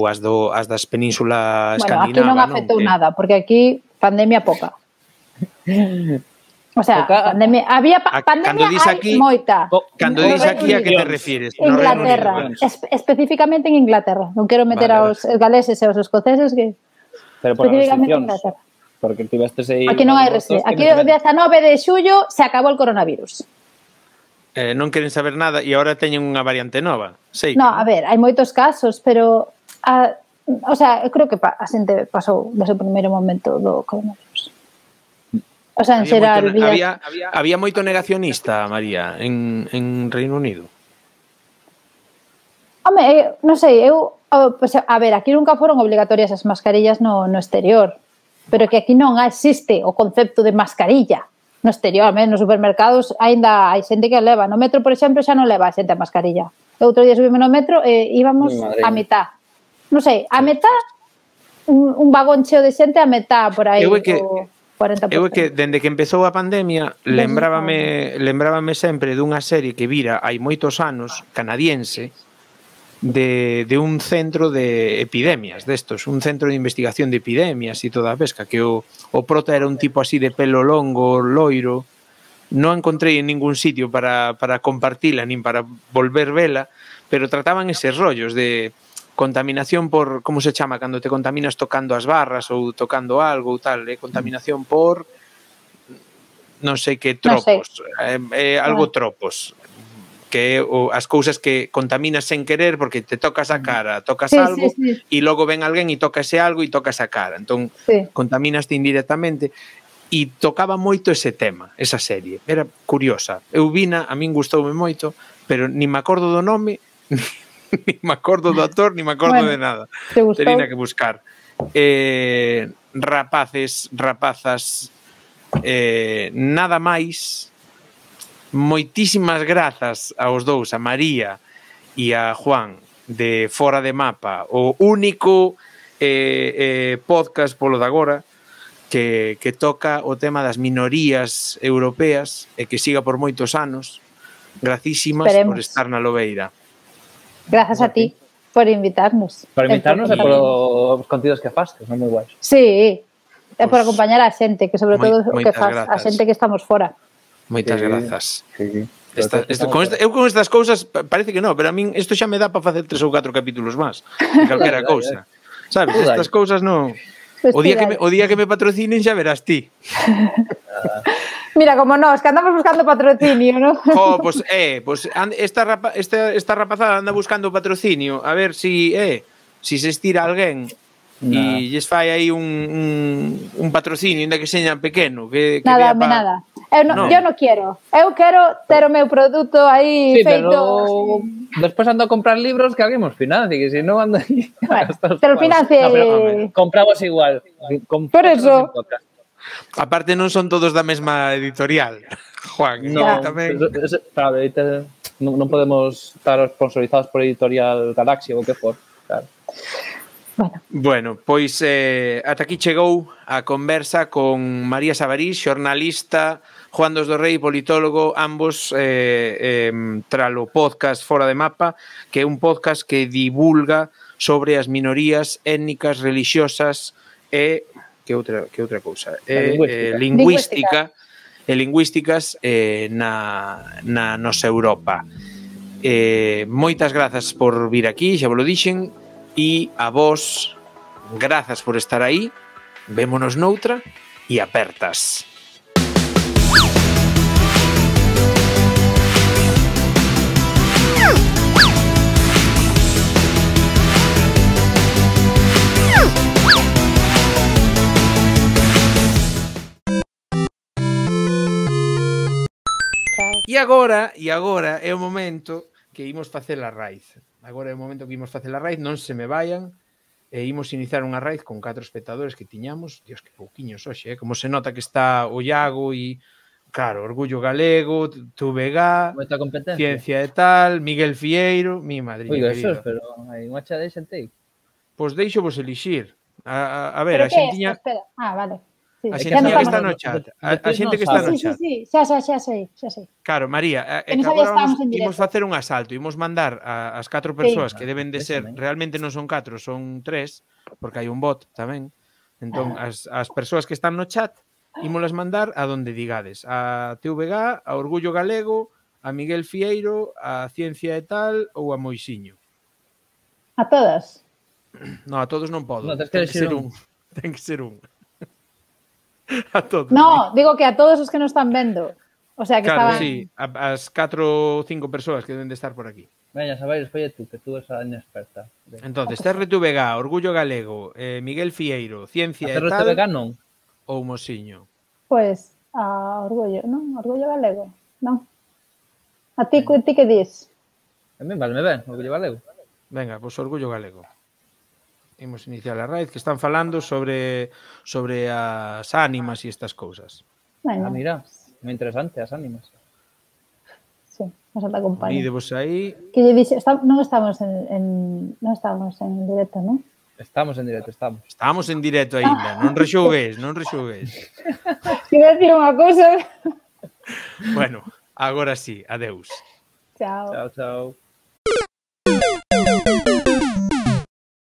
as das penínsulas escandinavas. Aquí non afectou nada, porque aquí pandemia poca. O sea, pandemia, había pandemia hai moita. Cando dis aquí, a que te refires? Inglaterra, especificamente en Inglaterra. Non quero meter aos galeses e aos escoceses que... Pero por restriccións. Porque tivestes aí... Aquí non hai restriccións. Aquí o 19 de xullo se acabou o coronavirus. Non queren saber nada e agora teñen unha variante nova. No, a ver, hai moitos casos, pero... o sea, eu creo que a xente pasou desde o primeiro momento do coronavirus. O sea, en xeral... Había moito negacionista, María, en Reino Unido? Home, non sei, a ver, aquí nunca foron obligatorias as mascarillas no exterior, pero que aquí non existe o concepto de mascarilla no exterior, nos supermercados ainda hai xente que leva. No metro, por exemplo, xa non leva a xente a mascarilla. Outro día subimos no metro e íbamos a mitad. Non sei, a metá, un vagón cheo de xente, a metá por aí, o 40%. Eu é que, dende que empezou a pandemia, lembrábame sempre dunha serie que vira hai moitos anos, canadiense, de un centro de epidemias, destos, un centro de investigación de epidemias e toda a pesca, que o prota era un tipo así de pelo longo, loiro, non encontrei en ningún sitio para compartila, nin para volver vela, pero trataban eses rollos de... contaminación por, como se chama, cando te contaminas tocando as barras ou tocando algo ou tal, contaminación por non sei que tropos, algo tropos, que as cousas que contaminas sen querer porque te tocas a cara, tocas algo e logo ven alguén e toca ese algo e tocas a cara, entón contaminaste indirectamente e tocaba moito ese tema, esa serie, era curiosa, eu vina, a min gustoume moito, pero nin me acordo do nome ni me acordo do actor, ni me acordo de nada. Tería que buscar. Rapazas, nada máis. Moitísimas grazas aos dous, a María e a Juan, de Fora de Mapa, o único podcast polo de agora que toca o tema das minorías europeas e que siga por moitos anos. Gracísimas por estar na Lobeira. Grazas a ti por invitarnos. Por invitarnos e por os contidos que faz, que son moi guais. Sí, e por acompañar a xente, que sobre todo o que faz, a xente que estamos fora. Moitas grazas. Eu con estas cousas parece que non, pero a min isto xa me dá para facer 3 ou 4 capítulos máis de calquera cousa. Sabes, estas cousas non... O día que me patrocinen xa verás ti. Mira, como nós, que andamos buscando patrocinio, ¿no? Pues esta rapazada anda buscando patrocinio, a ver si se estira alguén e lles fai aí un patrocinio, ainda que seña pequeno. Nada. Eu non quero. Eu quero ter o meu produto aí feito... Pero despois ando a comprar libros que alguén nos financie, que se non ando aí... Bueno, te lo financie... Compramos igual. Por eso... Aparte non son todos da mesma editorial, Juan. Non, claro, non podemos estar sponsorizados por Editorial Galaxia ou que for, claro. Bueno, pois ata aquí chegou a conversa con María Sabarís, xornalista, Juan dos do Rei, politólogo, ambos tralo podcast Fora de Mapa, que é un podcast que divulga sobre as minorías étnicas, religiosas e que outra cousa, lingüísticas na nosa Europa. Moitas grazas por vir aquí, xa vos lo dixen. E a vos, grazas por estar aí, vémonos noutra e apertas. E agora é o momento que imos facer a raíz. Agora é o momento que imos facer a raíz, non se me vayan, e imos iniciar unha raíz con 4 espectadores que tiñamos. Dios, que pouquiños hoxe, como se nota que está o Iago e, claro, Orgullo Galego, TVG, Ciencia e tal, Miguel Fieiro, mi madriña querida. Pero hai unha cha de xente aí. Pois deixo vos elixir. A ver, a xentiña... vale. Sí, a xente que está no chat. A xente que está no chat. Sí, xa sei. Claro, María, que agora imos facer un asalto, imos mandar as 4 persoas que deben de ser, realmente non son 4, son 3, porque hai un bot tamén. Entón, as persoas que están no chat, ímolas mandar a donde digades. A TVG, a Orgullo Galego, a Miguel Fieiro, a Ciencia e tal ou a Moisiño. A todas? Non, a todos non podo. Ten que ser un. Ten que ser un. A todos. No, digo que a todos os que nos están vendo. O sea, que claro, estaban... sí, as 4 ou 5 persoas que deben de estar por aquí. Veña, Sabaires, folle tú, que tú és a inexperta. Entonces, TRTVG, Orgullo Galego, Miguel Fieiro, Ciencia e tal... TRTVG non? Ou Mosiño? Pois, a Orgullo, non? Orgullo Galego, non? A ti que dis? A mí valme ben, Orgullo Galego. Venga, pois Orgullo Galego. Imos iniciar a raíz, que están falando sobre as ánimas e estas cousas. Bueno. Mira, moi interesante as ánimas. Sí, nos ata acompaña. Vídevos aí. Que lle dixe, non estamos en directo, non? Estamos en directo, estamos. Estamos en directo aínda, non rexougues. Quero decir unha cousa. Bueno, agora sí, adeus. Chao. Chao.